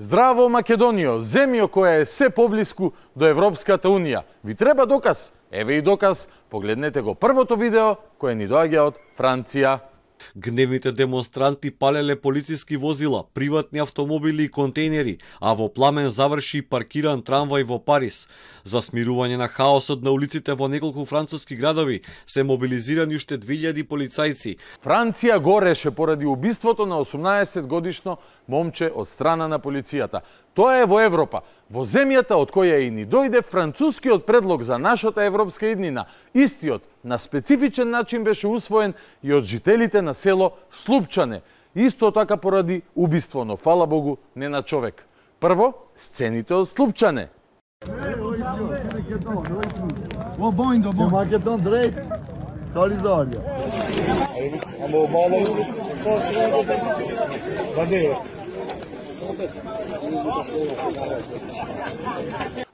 Здраво Македонијо, земјо која е се поблиску до Европската Унија. Ви треба доказ? Еве и доказ. Погледнете го првото видео кое ни доаѓа од Франција. Гневните демонстранти палеле полициски возила, приватни автомобили и контейнери, а во пламен заврши паркиран трамвај во Париз. За смирување на хаосот на улиците во неколку француски градови се мобилизирани уште 2000 полицајци. Франција гореше поради убиството на 18-годишно момче од страна на полицијата. Тоа е во Европа, во земјата од која и ни дојде францускиот предлог за нашата европска иднина. Истиот на специфичен начин беше усвоен и од жителите на село Слупчане. Исто така поради убиство, но фала Богу не на човек. Прво, сцените од Слупчане.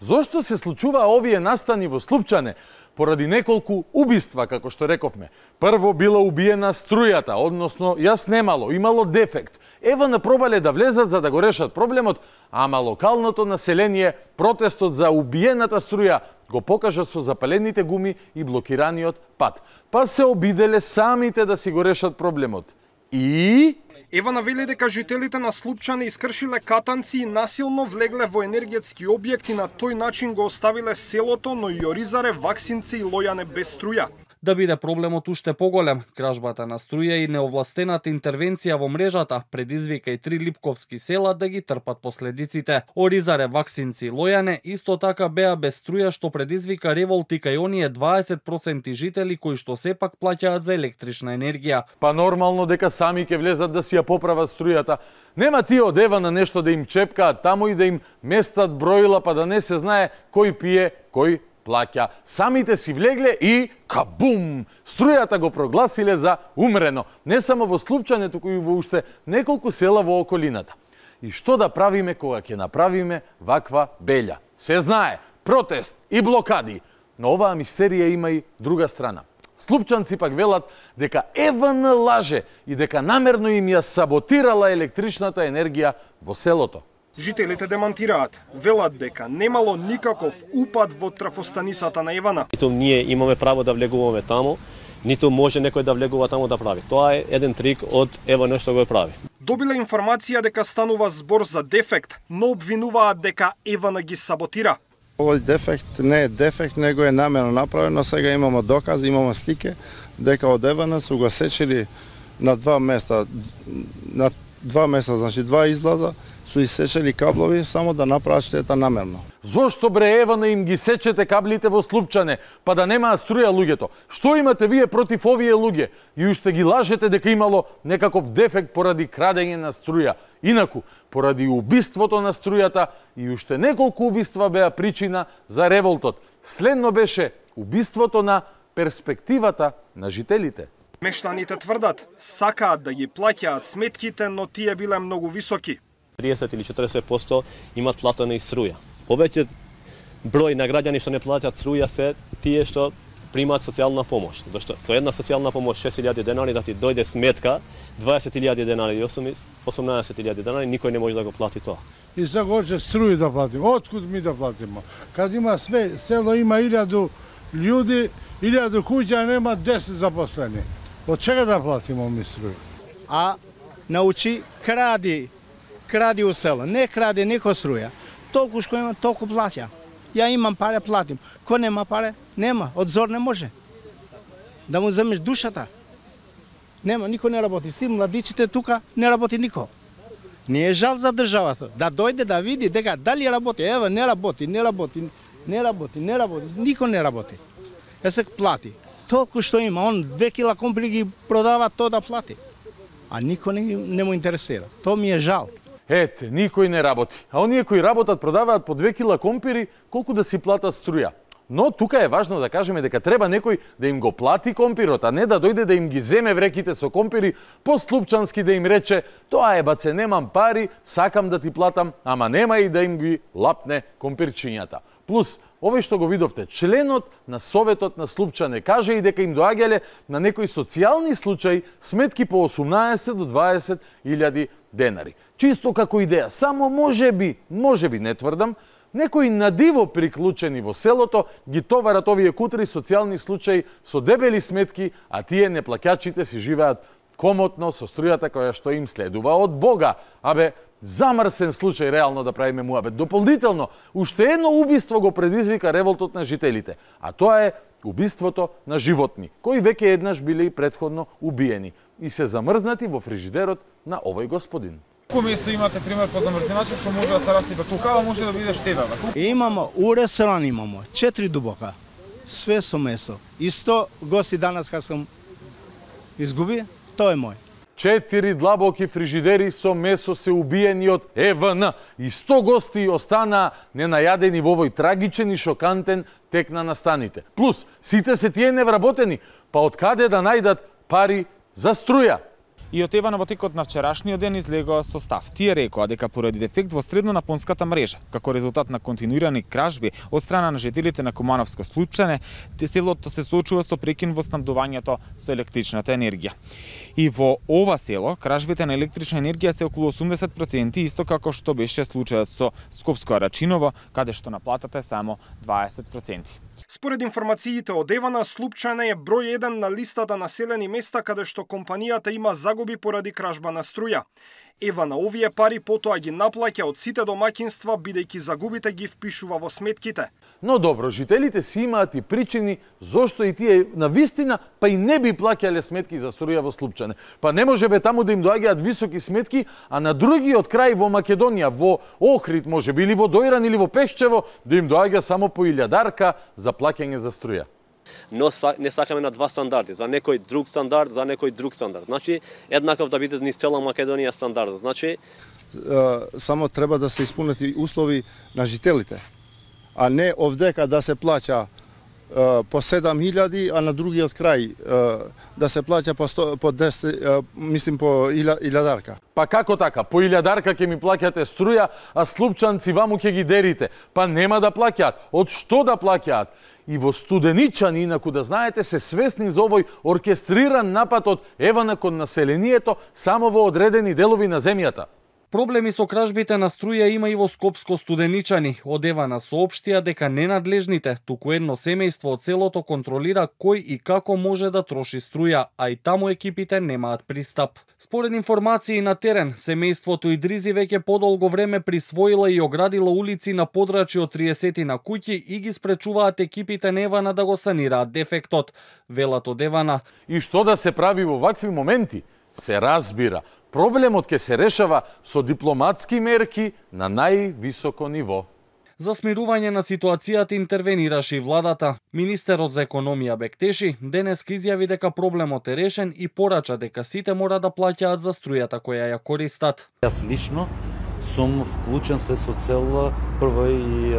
Зошто се случува овие настани во Слупчане? Поради неколку убиства, како што рековме. Прво била убиена струјата, односно ја снемало, имало дефект. Ева напробале да влезат за да го решат проблемот, ама локалното население протестот за убиената струја го покажа со запалените гуми и блокираниот пат. Па се обиделе самите да си го решат проблемот. И Ева навели дека жителите на Слупчане искршиле катанци и насилно влегле во енергетски објекти, на тој начин го оставиле селото, но и Оризаре, Ваксинци и Лојане без струја. Да биде проблемот уште поголем, кражбата на струја и неовластената интервенција во мрежата предизвика и 3 липковски села да ги трпат последиците. Оризаре, Ваксинци и Лојане исто така беа без струја, што предизвика револти кај оние 20% жители кои што сепак плаќаат за електрична енергија. Па нормално дека сами ќе влезат да си ја поправат струјата. Нема тие од ева на нешто да им чепкаат таму и да им местат броила, па да не се знае кој пие, кој плаќа. Самите си влегле и кабум! Струјата го прогласиле за умрено. Не само во Слупчане, туку и во уште неколку села во околината. И што да правиме кога ќе направиме ваква белја? Се знае, протест и блокади. Но оваа мистерија има и друга страна. Слупчанци пак велат дека ЕВН лаже и дека намерно им ја саботирала електричната енергија во селото. Жителите демантираат, велат дека немало никаков упад во трафостаницата на ЕВН. Ниту ние имаме право да влегуваме таму, ниту може некој да влегува таму да прави. Тоа е еден трик од ЕВН што го прави. Добиле информација дека станува збор за дефект, но обвинуваат дека ЕВН ги саботира. Овој дефект не е дефект, него е намерно направено. Сега имаме докази, имаме слики дека од ЕВН су го сечили на два места, значи два излаза, су исечели каблови само да направат штета намерно. Зошто бре ЕВН им ги сечете каблите во Слупчане, па да немаат струја луѓето? Што имате вие против овие луѓе? И уште ги лажете дека имало некаков дефект поради крадење на струја. Инаку, поради убиството на струјата и уште неколку убиства беа причина за револтот. Следно беше убиството на перспективата на жителите. Мештаните тврдат, сакаат да ги плаќаат сметките, но тие биле многу високи. 30 или 40% имат платена и струја. Повеќе број на граѓани што не плаќаат струја се тие што примаат социјална помош. Зашто со една социјална помош 6.000 денари да ти дојде сметка 20.000 денари и 18.000 денари, никој не може да го плати тоа. И сега hoće струju да платим. Откуд ми да платимо? Kad ima sve, selo ima 1000 ljudi, 1000 kuća, nema 10 zaposleni. Od čega da platimo mi struju? A naучи кради у село. Не кради никој струја. Толку што има, толку плаќа. Ја имам паре, платим. Кој нема паре, нема. Од зор не може. Да му земеш душата. Нема, никој не работи. Си младичите тука не работи никој. Не е жал за државата. Да дојде да види дека дали работи. Ева, не работи. Никој не работи. Се плати. Толку што има. Он 2 кила компри ги продава, тоа да плати. А никој не му интересира. Тоа ми е жал. Ете, никој не работи. А оние кои работат продаваат по 2 кила компири, колку да си платат струја. Но тука е важно да кажеме дека треба некој да им го плати компирот, а не да дојде да им ги земе вреките со компири, по слупчански да им рече: "Тоа е баце, немам пари, сакам да ти платам, ама нема и да им ги лапне компирчињата." Плюс, овој што го видовте, членот на Советот на Слупчане каже и дека им доаѓале на некои социјални случаи сметки по 18 до 20.000 денари. Чисто како идеја, само може би не тврдам, некои надиво приклучени во селото ги товарат овие кутри социјални случаи со дебели сметки, а тие неплаќачите си живеат комотно со струјата која што им следува од Бога. Замрсен случај реално да правиме муабет. Дополнително, уште едно убиство го предизвика револтот на жителите, а тоа е убиството на животни, кои веќе еднаш биле и претходно убиени и се замрзнати во фрижидерот на овој господин. Кој место имате пример по замрзнувачи што може да се расипе кукава, може да биде штедава? Имамо, у ресторан имамо, 4 дубока, све со месо. И 100 гости данас кога сам изгуби, тоа е мој. 4 длабоки фрижидери со месо се убиени од ЕВН и 100 гости останаа ненајадени во овој трагичен и шокантен тек на настаните. Плюс, сите се тие невработени, па од каде да најдат пари за струја? И од ЕВН во текот на вчерашниот ден излегоа со став. Тие рекоа дека поради дефект во средно-напонската мрежа, како резултат на континуирани кражби од страна на жителите на Кумановско Слупчане, селото се соочува со прекин во снабдувањето со електричната енергија. И во ова село, кражбите на електрична енергија се околу 80%, исто како што беше случајот со Скопско Арачиново, каде што наплатата е само 20%. Според информациите од ЕВН, Слупчане е број 1 на листата населени места каде што компанијата има загуби поради кражба на струја. ЕВН овие пари потоа ги наплаќа од сите домаќинства, бидејќи загубите ги впишува во сметките. Но добро, жителите си имаат и причини зошто и тие на вистина па и не би плаќале сметки за струја во Слупчане. Па не може бе таму да им доаѓаат високи сметки, а на другиот крај во Македонија, во Охрид, може би или во Дојран или во Пешчево, да им доаѓа само по 1000 за плаќање за струја. Но не сакаме на два стандарди, за некој друг стандард, за некој друг стандард. Значи, еднаков да биде низ цела Македонија стандард. Значи, само треба да се исполнат и услови на жителите, а не овдека да се плаќа по 7000, а на другиот крај да се плаќа по 10, мислим по 1000. Па како така? По 1000 ќе ми плаќате струја, а слупчанци ваму ќе ги дерите. Па нема да плаќаат. Од што да плаќаат? И во Студеничани, инаку да знаете, се свесни за овој оркестриран напад од ЕВН кон населението само во одредени делови на земјата. Проблеми со кражбите на струја има и во Скопско Студеничани. Од ЕВН соопштија дека ненадлежните, туку едно семејство од селото контролира кој и како може да троши струја, а и таму екипите немаат пристап. Според информации на терен, семејството Идризи веќе подолго време присвоила и оградила улици на подрачје од 30 на куќи и ги спречуваат екипите на ЕВН да го санираат дефектот. Велат од ЕВН. И што да се прави во вакви моменти? Се разбира. Проблемот ќе се решава со дипломатски мерки на највисоко ниво. За смирување на ситуацијата интервенираше и владата. Министерот за економија Бектеши денеска изјави дека проблемот е решен и порача дека сите мора да плаќаат за струјата која ја користат. Јас лично сум вклучен се со цел прво и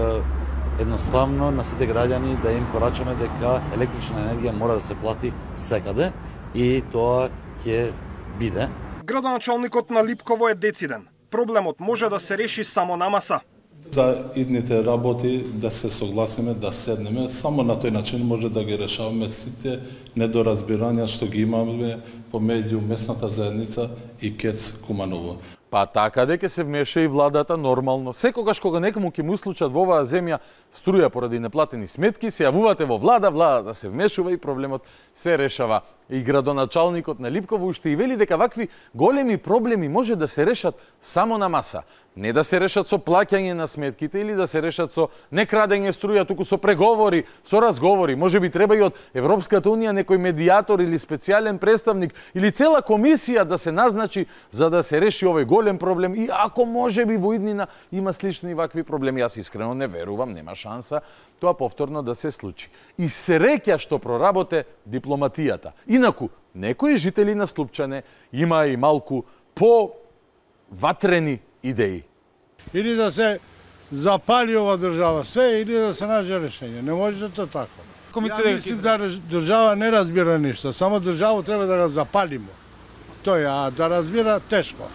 едноставно на сите граѓани да им порачаме дека електрична енергија мора да се плати секаде и тоа ќе биде. Градоначалникот на Липково е дециден. Проблемот може да се реши само на маса. За идните работи да се согласиме, да седнеме, само на тој начин може да ги решаваме сите недоразбирања што ги имаме помеѓу местната заедница и КЕЦ Куманово. Па така дека се вмеша и владата нормално. Секогаш кога некому ќе му случат во оваа земја струја поради неплатени сметки, се јавувате во владата се вмешува и проблемот се решава. И градоначалникот на Липково уште и вели дека вакви големи проблеми може да се решат само на маса. Не да се решат со плаќање на сметките или да се решат со некрадење струја, туку со преговори, со разговори. Може би треба и од Европската унија некој медијатор или специјален представник или цела комисија да се назначи за да се реши овој голем проблем. И ако може би во иднина има слични вакви проблеми, јас искрено не верувам, нема шанса тоа повторно да се случи. И среќа што проработе дипломатијата. Инаку, некои жители на Слупчане има и малку по-ватрени идеи. Или да се запали ова држава, се, или да се најде решење. Не може да тоа така. Ја мислим да држава не разбира ништо, само државу треба да го запалимо. Тој, а да разбира тешко.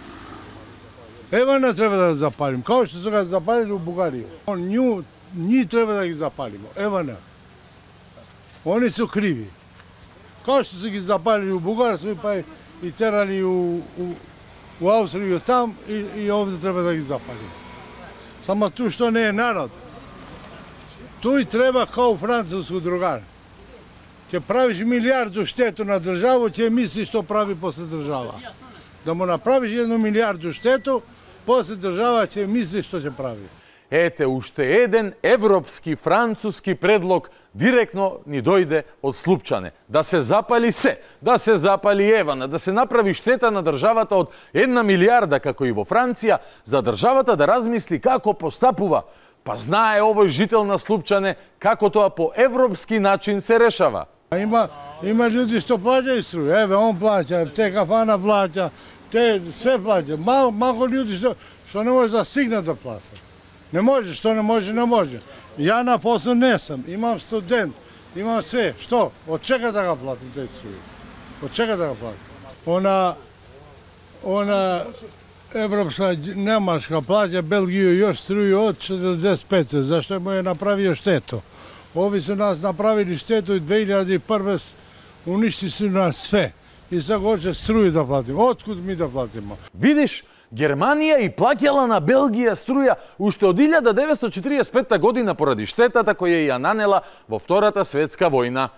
Ева не треба да го запалим, као што се го запалили у Бугарија. Ние треба да ги запалимо, ева не. Они се криви. Као што се ги запалили у Бугарија, па и терали у Австрија там и овде треба да ги запалим. Само ту што не е народ. Тој треба као француско другар. Ќе правиш милиарду штету на државу, ќе мисли што прави после држава. Да му направиш 1 милиарду штету, после држава ќе мисли што ќе прави. Ете, уште еден европски, француски предлог директно ни дојде од Слупчане. Да се запали се, да се запали Евана, да се направи штета на државата од 1 милиарда, како и во Франција, за државата да размисли како постапува. Па знае овој жител на Слупчане како тоа по европски начин се решава. Има луѓе што плаќаат струја, еве он плаќа, те кафана плаќа, те се плаќа. Малку луѓе што не може да стигнат да платат. Не може, што не може, не може. Ја на посол не сум, имам студент, имам се. Што? Од чека да го платим тези струја? Од чека да го платим? Она европска, немашка плаќа Белгија још струја од 45, зашто му е направио штету. Ови се нас направили штету и 2001 уништи се нас све. И сега хоче струја да платим. Откуд ми да платимо? Видиш, Германија и плаќала на Белгија струја уште од 1945 година поради штетата која ја нанела во Втората светска војна.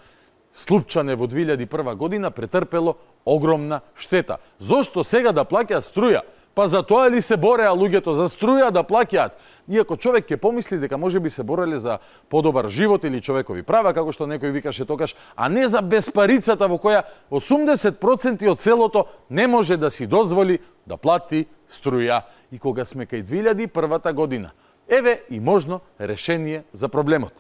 Слупчане во 2001 година претрпело огромна штета. Зошто сега да плаќа струја? Па за тоа ли се бореа луѓето, за струја да плаќаат? Иако човек ќе помисли дека може би се бореле за подобар живот или човекови права, како што некој викаше тогаш, а не за безпарицата во која 80% од селото не може да си дозволи да плати струја. И кога сме кај 2001 година, еве и можно решение за проблемот.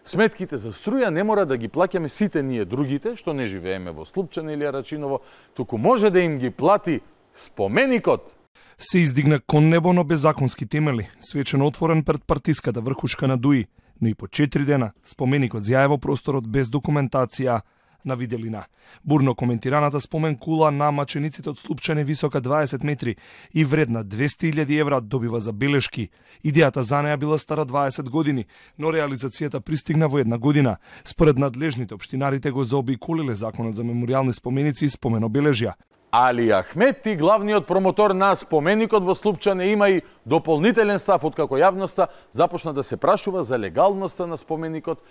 Сметките за струја не мора да ги плаќаме сите ние другите, што не живееме во Слупчане или Арачиново, туку може да им ги плати споменикот. Се издигна кон небо, но без законски темели, свечено отворен пред партиската врхушка на Дуи, но и по 4 дена споменикот зјае во просторот без документација на виделина. Бурно коментираната спомен кула на мачениците од Слупчане висока 20 метри и вредна 200.000 евра добива забелешки. Идејата за неја била стара 20 години, но реализацијата пристигна во 1 година. Според надлежните општинарите го заобиколиле законот за меморијални споменици и споменобележја. Али Ахметти, главниот промотор на споменикот во Слупчане, има и дополнителен став откако јавноста започна да се прашува за легалноста на споменикот.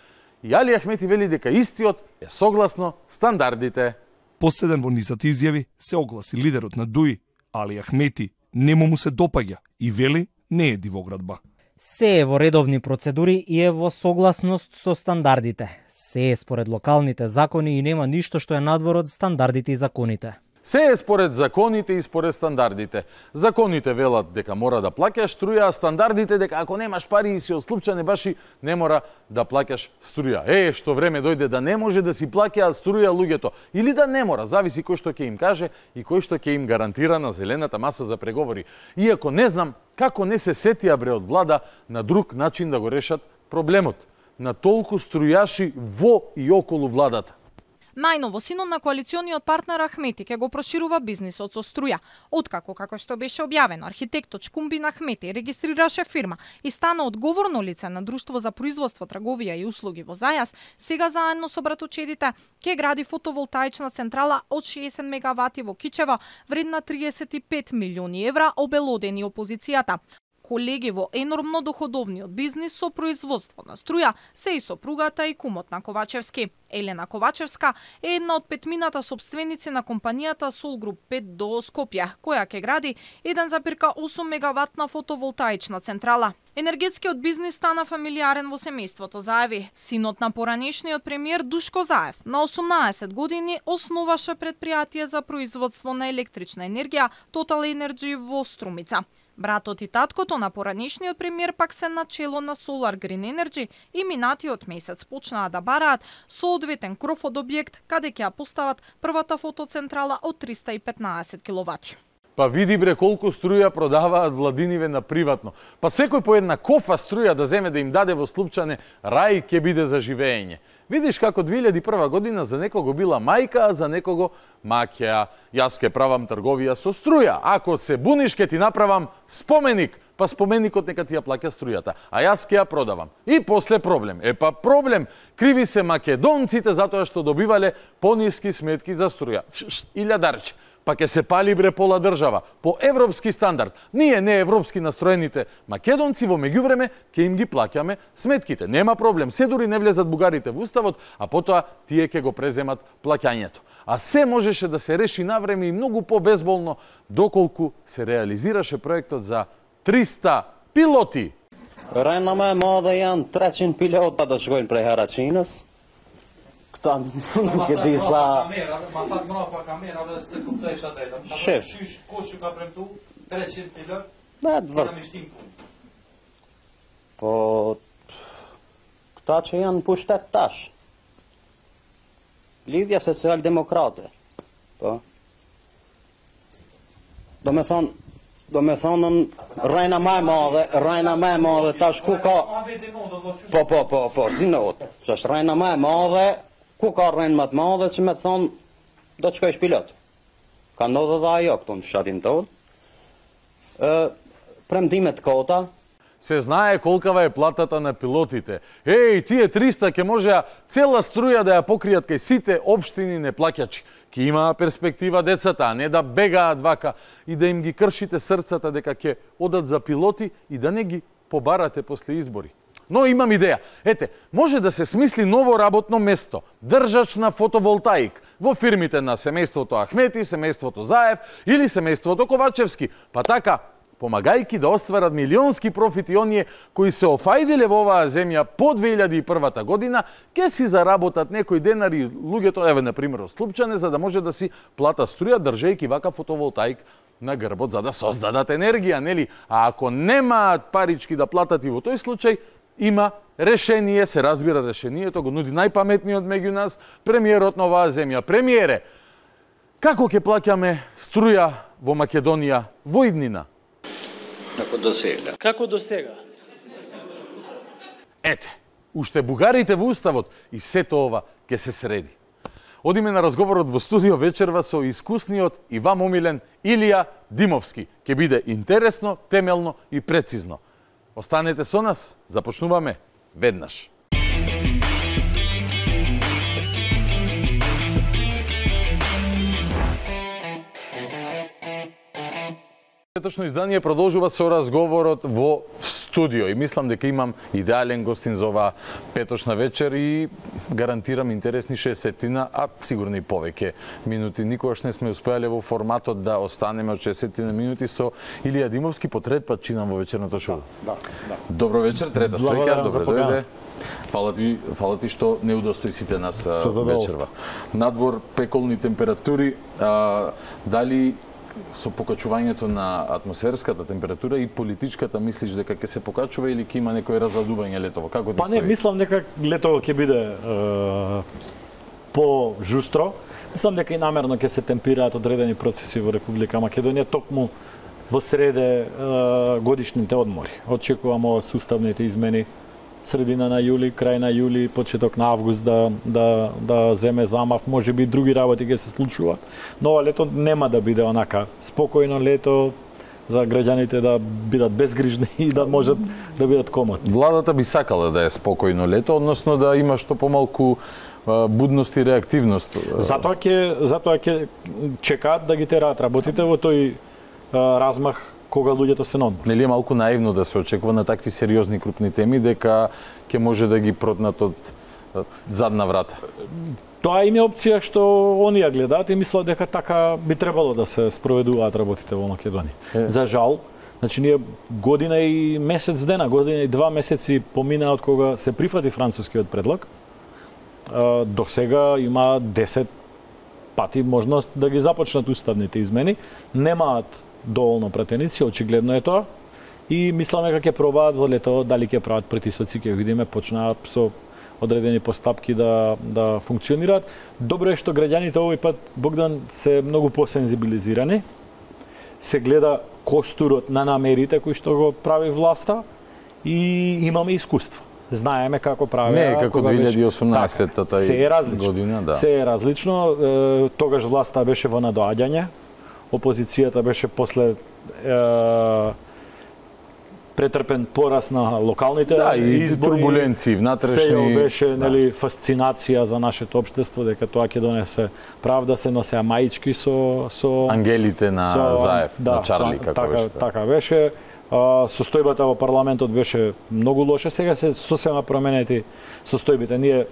И Али Ахметти вели дека истиот е согласно стандардите. Последен во низата изјави се огласи лидерот на Дуи, Али Ахметти, нему му се допаѓа и вели не е дивоградба. Се е во редовни процедури и е во согласност со стандардите. Се е според локалните закони и нема ништо што е надвор од стандардите и законите. Се е според законите и според стандардите. Законите велат дека мора да плаќаш струја, а стандардите дека ако немаш пари и си од Слупчане баши, не мора да плаќаш струја. Што време дојде да не може да си плаќаат струја луѓето. Или да не мора, зависи кој што ќе им каже и кој што ќе им гарантира на зелената маса за преговори. Иако не знам како не се сетија бре од влада на друг начин да го решат проблемот. На толку струјаши во и околу владата. Најново, синот на коалициониот партнер Ахметти ќе го проширува бизнисот со струја. Откако, како што беше објавено, архитектот Шкумбин Ахметти регистрираше фирма и стана одговорно лице на Друштво за производство, трговија и услуги во Зајас, сега заедно со братучедите ќе гради фотоволтаична централа од 60 мегавати во Кичево, вредна 35 милиони евра, обелодени опозицијата. Колеги во енормно доходовниот бизнис со производство на струја се и сопругата и кумот на Ковачевски. Елена Ковачевска е една од петмината собственици на компанијата Сол Груп 5 до Скопје, која ќе гради 1,8 мегаватна фотоволтаична централа. Енергетскиот бизнис стана фамилиарен во семејството Заеви. Синот на поранешниот премиер Душко Заев на 18 години основаше предпријатие за производство на електрична енергија Total Energy во Струмица. Братот и таткото на поранешниот премиер пак се начело на Solar Green Energy и минатиот месец почнаа да бараат соодветен кров од објект каде ќе ја постават првата фотоцентрала од 315 киловати. Па види бре колку струја продаваат владиниве на приватно. Па секој по една кофа струја да земе да им даде во Слупчане, рај ќе биде за живење. Видиш како 2001 година за некого била мајка, а за некого маќа. Јас ке правам трговија со струја. Ако се буниш ке ти направам споменик, па споменикот нека ти ја плаќа струјата, а јас ке ја продавам. И после проблем. Проблем. Криви се македонците затоа што добивале пониски сметки за струја. Илјадарче. па ќе се пали бре пола држава по европски стандард. Ние не европски настроените македонци во меѓувреме ќе им ги плаќаме сметките. Нема проблем, се дури не влезат бугарите во уставот, а потоа тие ќе го преземат плаќањето. А се можеше да се реши навреме и многу по-безболно доколку се реализираше проектот за 300 пилоти. Rajna me madhe janë 300 pilota do shkojnë prej Haraçinës. Këta nuk e di sa... Ma fat mrapa kamera dhe se kuptoj isha drejta. Shef. Kush ju ka premtu 300 pilot? Me të vërë. Po... Këta që janë pushtet tash. Lidhja social-demokrate. Po. Do me thonën rajna ma e madhe tash ku ka... Po, zinot. Që është rajna ma e madhe, ku ka rajnë më të madhe që me thonë do të shkojsh pilot. Ka ndodhe dhe ajo këtu në fshatin tonë. Premtimet kota. Се знае колкава е платата на пилотите. Тие 300 ќе можеа цела струја да ја покријат кај сите општини неплаќачи. Ќе има перспектива децата, а не да бегаат вака и да им ги кршите срцата дека ќе одат за пилоти и да не ги побарате после избори. Но имам идеја. Може да се смисли ново работно место, држач на фотоволтаик, во фирмите на семејството Ахмети, семејството Заев или семејството Ковачевски. Па така, помагајки да остварат милионски профити оние кои се офајдиле во оваа земја по 2001 година, ќе си заработат некој денари луѓето, на пример, Слупчане, за да може да си плата струја држејки вака фотоволтаик на грбот, за да создадат енергија, нели? А ако немаат парички да платат и во тој случај, има решение, се разбира решението, го нуди најпаметниот меѓу нас, премиерот на оваа земја. Премиере, како ќе плаќаме струја во Македонија во иднина? Како до сега? Уште бугарите во уставот и сето ова ќе се среди. Одиме на разговорот во студио вечерва со искусниот и вам омилен Илија Димовски. Ќе биде интересно, темелно и прецизно. Останете со нас, започнуваме веднаш. Петочно издание продолжува со разговорот во студио и мислам дека имам идеален гостин за оваа петочна вечер и гарантирам интересни 60-тина, а сигурно и повеќе минути. Никогаш не сме успеале во форматот да останеме од 60 минути со Илија Димовски, по трет пат чинам во вечерното шоу. Да. Добро вечер, трета среќа, добро дојде. Фала ти што не удостои сите нас вечерва. Надвор пеколни температури, дали со покачувањето на атмосферската температура и политичката мислиш дека ќе се покачува или ќе има некој разладување летово? Како да не, мислам дека летово ќе биде по-жустро. Мислам дека и намерно ќе се темпираат одредени процеси во Република Македонија, токму во среде годишните одмори. Очекувам ова суставните измени средина на јули, крај на јули, почеток на август да земе замав, може би други работи ќе се случуваат. Но ова лето нема да биде онака спокојно лето за граѓаните да бидат безгрижни и да можат да бидат комотни. Владата би сакала да е спокојно лето, односно да има што помалку будност и реактивност. Затоа ќе чекаат да ги тераат работите во тој размах кога луѓето се на одмор. Нели е малку наивно да се очекува на такви сериозни крупни теми дека ќе може да ги протнат од задна врата? Тоа им е опција што они ја гледаат и мислат дека така би требало да се спроведуваат работите во Македонија. За жал, значи ние година и месец дена, година и 2 месеци помина од кога се прифати францускиот предлог. До сега има 10 пати можност да ги започнат уставните измени. Немаат доволно пратеници, очигледно е тоа. И мисламе дека ќе пробаат во лето, дали ќе прават притисоци, ќе видиме, почнаат со одредени постапки да функционираат. Добро е што граѓаните овој пат, Богдан, се многу посензибилизирани. Се гледа костурот на намерите кои што го прави власта и имаме искуство. Знаеме како прави. Не, како 2018-та година, да. Се е различно. Тогаш власта беше во надоаѓање. Опозицијата беше после претрпен пораст на локалните избори. Турбуленции внатрешни. Сеја беше нели фасцинација за нашето општество дека тоа ќе донесе правда, се носеа маички со ангелите на Заев, на Чарли како беше. Така беше. Состојбата во парламентот беше многу лоша, сега се сосема променети состојбите. Ние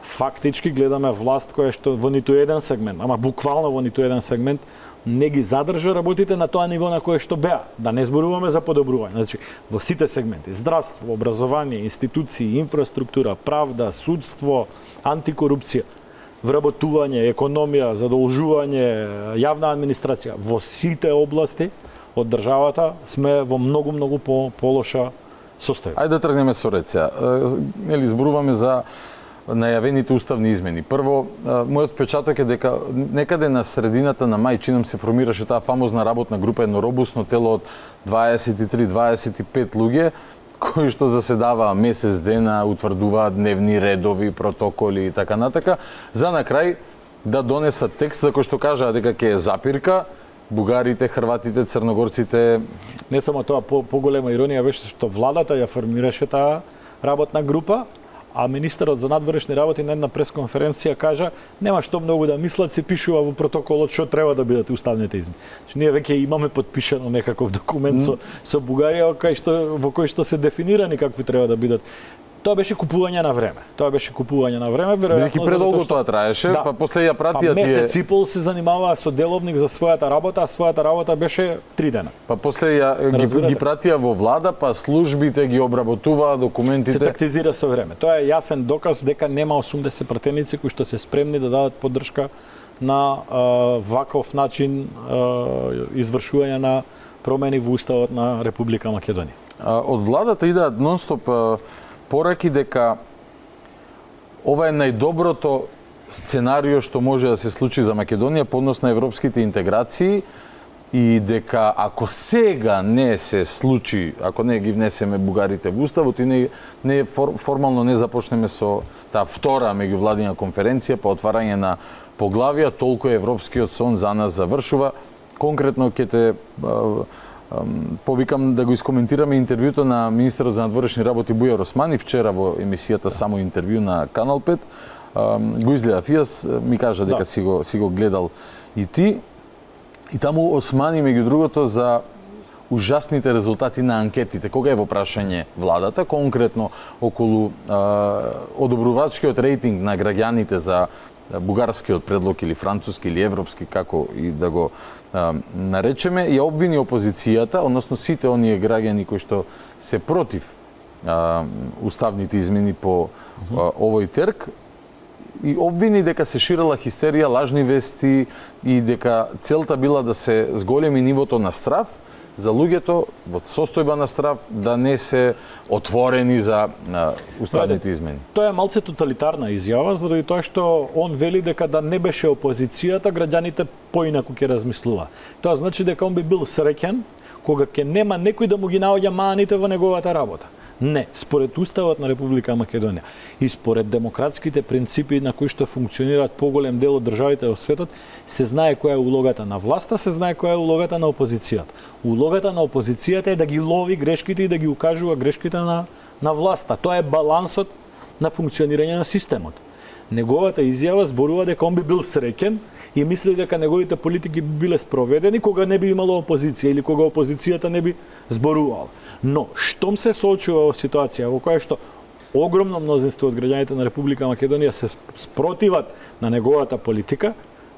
фактички гледаме власт која што во ниту еден сегмент, ама буквално во ниту еден сегмент не ги задржа работите на тоа ниво на кое што беа. Да не зборуваме за подобрување. Значи, во сите сегменти, здравство, образование, институции, инфраструктура, правда, судство, антикорупција, вработување, економија, задолжување, јавна администрација, во сите области од државата сме во многу полоша состојба. Ајде да тргнеме со ред сега. Нели зборуваме за најавените уставни измени. Прво, мојот впечаток е дека некаде на средината на мај чинам се формираше таа фамозна работна група, едно робусно тело од 23-25 луѓе кои што заседаваа месец дена, утврдуваат дневни редови, протоколи и така натака, за на крај да донесат текст за кој што кажаа дека ќе е запирка, бугарите, хрватите, црногорците. Не само тоа, поголема иронија беше што владата ја формираше таа работна група, а министерот за надворешни работи на една пресконференција кажа нема што многу да мислат, се пишува во протоколот што треба да бидат уставните измени. Значи ние веќе имаме подпишано некаков документ со Бугарија во кој што се дефинирани какви треба да бидат. Тоа беше купување на време. Веројатно бидејќи предолго тоа траеше, па после ја пратија тие. Месец и пол се занимаваа со деловник за својата работа, а својата работа беше 3 дена. Па после ги пратија во влада, па службите ги обработуваа документите. Се тактизира со време. Тоа е јасен доказ дека нема 80 пратеници кои што се спремни да дадат поддршка на ваков начин извршување на промени во уставот на Република Македонија. Од владата идеат нонстоп пораки дека ова е најдоброто сценарио што може да се случи за Македонија по однос на европските интеграции и дека ако сега не се случи, ако не ги внесеме бугарите во уставот и не формално не започнеме со таа втора меѓувладина конференција по отварање на поглавија, толку европскиот сон за нас завршува. Конкретно ќе те повикам да го искоментираме интервјуто на министерот за надворешни работи Бујар Османи вчера во емисијата Само интервју на Канал 5. Го изгледав јас, ми кажа дека си го гледал и ти. И таму Османи меѓу другото за ужасните резултати на анкетите. Кога е во прашање владата, конкретно околу одобрувачкиот рейтинг на граѓаните за бугарскиот предлог или француски или европски, како и да го наречеме, ја обвини опозицијата, односно сите оние граѓани кои што се против уставните измени по овој терк, и обвини дека се ширела хистерија, лажни вести и дека целта била да се зголеми нивото на страв за луѓето во состојба на страв да не се отворени за уставните измени. Тоа е малце тоталитарна изјава, заради тоа што он вели дека да не беше опозицијата, граѓаните поинаку ќе размислува. Тоа значи дека он би бил среќен кога ќе нема некој да му ги наоѓа маните во неговата работа. Не, според Уставот на Република Македонија и според демократските принципи на кои што функционираат поголем дел од државите во светот, се знае која е улогата на власта, се знае која е улогата на опозицијата. Улогата на опозицијата е да ги лови грешките и да ги укажува грешките на власта. Тоа е балансот на функционирање на системот. Неговата изјава зборува дека он би бил среќен и мисли дека неговите политики би биле спроведени кога не би имало опозиција или кога опозицијата не би зборувала. Но, штом се соочува во ситуација во која што огромно мнозинство од граѓаните на Република Македонија се спротиват на неговата политика,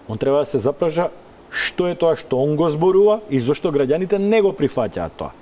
он треба да се запраша што е тоа што он го зборува и зошто граѓаните не го прифаќаат тоа.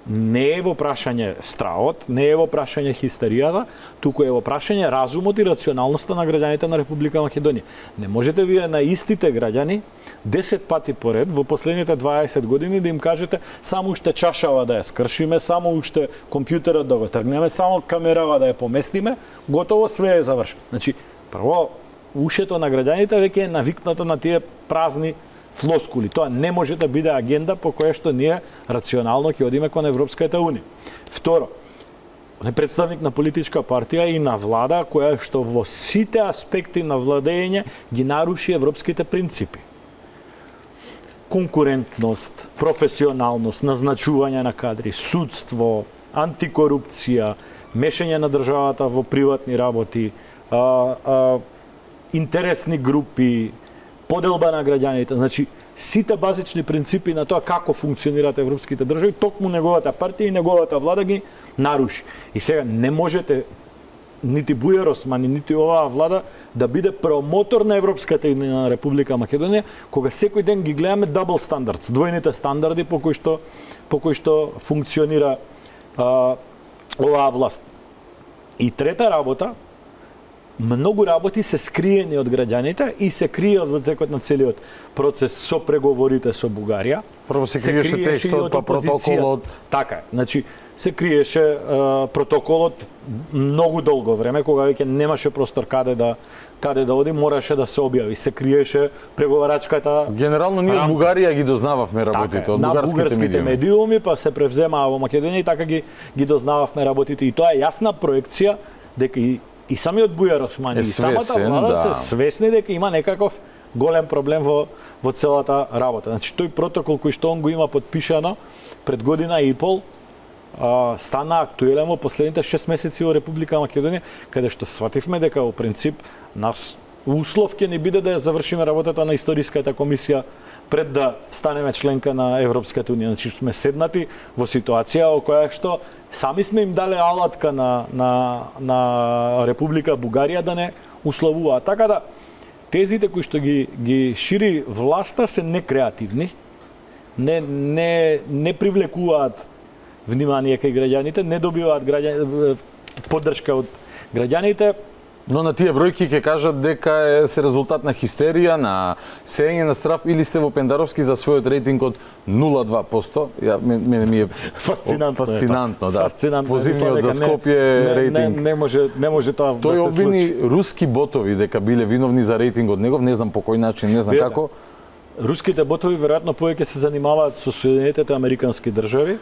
Не е во прашање стравот, не е во прашање хистеријата, туку е во прашање разумот и рационалноста на граѓаните на Република Македонија. Не можете вие на истите граѓани 10 пати поред во последните 20 години да им кажете само уште чашава да ја скршиме, само уште компјутерот да го тргнеме, само камерава да ја поместиме, готово све е завршено. Значи, прво, ушето на граѓаните веќе е навикнато на тие празни флоскули. Тоа не може да биде агенда по која што ние рационално ќе одиме кон Европската унија. Второ, он е представник на политичка партија и на влада која што во сите аспекти на владење ги наруши европските принципи. конкурентност, професионалност, назначување на кадри, судство, антикорупција, мешање на државата во приватни работи, интересни групи, поделба на граѓаните, значи сите базични принципи на тоа како функционираат европските држави, токму неговата партија и неговата влада ги наруши. И сега не можете нити Бујар Османи, нити оваа влада да биде промотор на Европската и на Република Македонија, кога секој ден ги гледаме double standards, двојните стандарди по кои што функционира оваа власт. И трета работа, многу работи се скриени од граѓаните и се кријат во текот на целиот процес со преговорите со Бугарија. Прво се криеше текстот, па протоколот. Така е. Значи, се криеше протоколот многу долго време, кога веќе немаше простор каде да оди, мораше да се објави. Се криеше преговарачката. Генерално ние од Бугарија ги дознававме работите, од бугарските медиуми, па се превземаа во Македонија и така ги дознававме работите. И тоа е јасна проекција дека и самиот Бујар Османи и самата влада се свесни дека има некаков голем проблем во целата работа. Значи, тој протокол кој што он го има подпишано пред година и пол, стана актуелен во последните 6 месеци во Република Македонија, каде што свативме дека во принцип нас услов ќе ни биде да ја завршиме работата на историската комисија пред да станеме членка на Европската унија. Значи сме седнати во ситуација во која што сами сме им дале алатка на Република Бугарија да не условуваат. Така да тезите кои што ги шири власта се некреативни, не привлекуваат внимание кај граѓаните, не добиваат поддршка од граѓаните. Но на тие бројки ќе кажат дека се резултат на хистерија, на сеење на страв, или сте во Пендаровски за својот рейтинг од 0,2%. Мене ми е фасцинантно, да. Позивниот за Скопје рейтинг. Не може тоа да се случи. Тој обвини руски ботови дека биле виновни за рейтингот негов, не знам по кој начин, не знам како. Руските ботови веројатно повеќе се занимаваат со Соединетите Американски држави,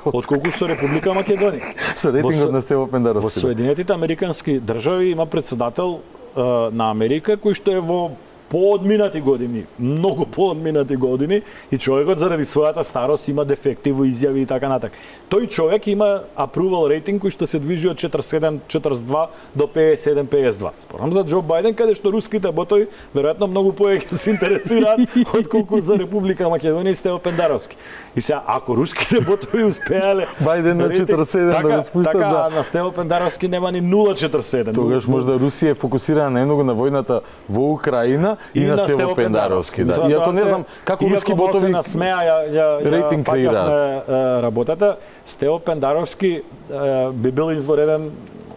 отколку со Република Македонија. Со рейтингот на Стево Пендаровски. Во Соединетите Американски држави има председател на Америка кој што е во поодминати години, многу поодминати години, и човекот заради својата старост има дефекти во изјави и така натака. Тој човек има approval рейтинг кој што се движи од 47-42 до 57-52. Спорам за Џо Бајден, каде што руските ботови веројатно многу повеќе се интересираат отколку за Република Македонија и Стево Пендаровски. И сега, ако руските ботови успеале Бајден на 47 да го спуштат, така, на Стево Пендаровски нема ни 0,47. Тогаш можда Русија е фокусирана најмногу на војната во Украина и на Стево Пендаровски. Да. Иако не знам како руски ботови рейтинг креираат работата, Стево Пендаровски би бил извореден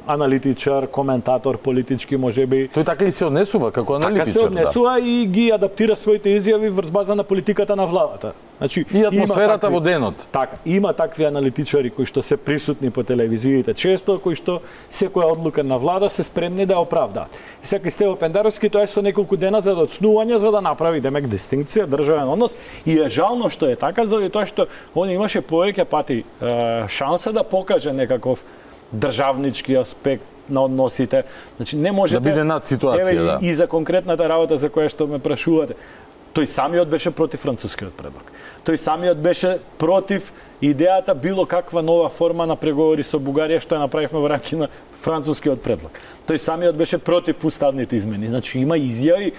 аналитичар, коментатор, политички можеби. Тој така и се однесува како аналитичар. Така се однесува и ги адаптира своите изјави врз база на политиката на владата. Значи, и атмосферата во денот. Така, има такви аналитичари кои што се присутни по телевизиите често, кои што секоја одлука на влада се спремни да оправдаат. И сега Стево Пендаровски тоа е со неколку дена за доцнување за да направи демек дистинкција, државен однос, и е жално што е така заради тоа што он имаше повеќе пати шанса да покаже некаков државнички аспект на односите. Значи не можете да биде над ситуација, да. И за конкретната работа за која што ме прашувате. Тој самиот беше против францускиот предлог. Тој самиот беше против идејата било каква нова форма на преговори со Бугарија што ја направивме во рамки на францускиот предлог. Тој самиот беше против уставните измени. Значи има изјави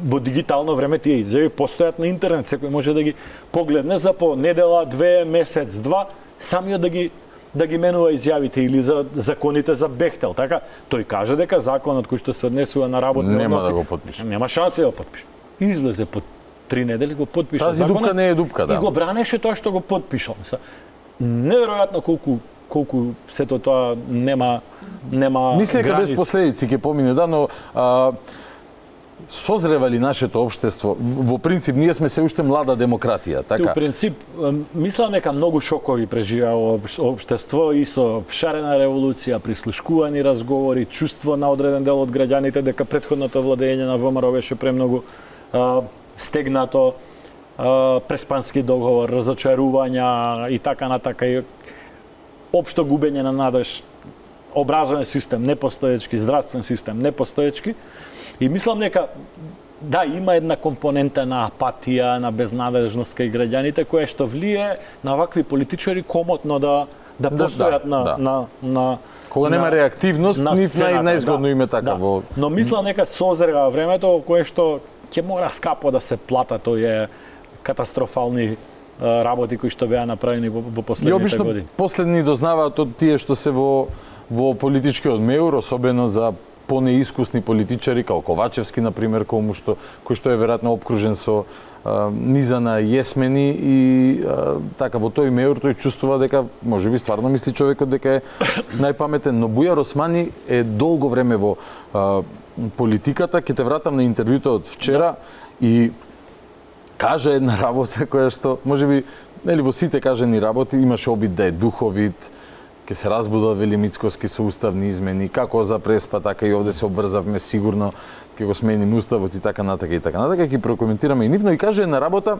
во дигитално време, тие изјави постојат на интернет, секој може да ги погледне за по недела, 2 месец, 2, самиот да ги менува изјавите, или за законите за Бехтел, така? Тој каже дека законот кој што се однесува на работни односи нема да го подпише. Нема шанси да го подпише. Излезе по 3 недели го подпише законот. Тази дупка не е дупка, да. И го бранеше тоа што го подпишал. Неверојатно колку сето тоа нема мисли дека без последици ќе помине, да, но созрева ли нашето општество? Во принцип, ние сме се уште млада демократија, така? Во принцип, мислам дека многу шокови преживеа општество и со шарена револуција, прислушкувани разговори, чувство на одреден дел од граѓаните дека претходното владење на ВМРО беше премногу стегнато, преспански договор, разочарувања и така натака, и општо губење на надеж, образовен систем непостоечки, здравствен систем непостоечки. И мислам дека да, има една компонента на апатија, на безнадежност кај граѓаните, која што влие на вакви политичари комотно да постојат на кога нема реактивност, нив најзгодно име така во. Но мислам нека созрева времето кое што ќе мора скапо да се платат овие катастрофални работи кои што беа направени во последните години. Последни дознаваат од тие што се во политичкиот меур, особено за понеискусни политичари, како Ковачевски, например, кој што е веројатно обкружен со низа на јесмени и така во тој меур тој чувствува дека можеби стварно мисли човекот дека е најпаметен, но Бујар Османи е долго време во политиката. Ќе те вратам на интервјуто од вчера и кажа една работа која што можеби нели во сите кажани работи имаше обид да е духовит, ќе се разбуда вели Мицкоски со уставни измени, како за Преспа, така и овде се обврзавме сигурно, ќе го сменим уставот и така натака и така натака, ќе прокоментираме и нивно и каже една работа,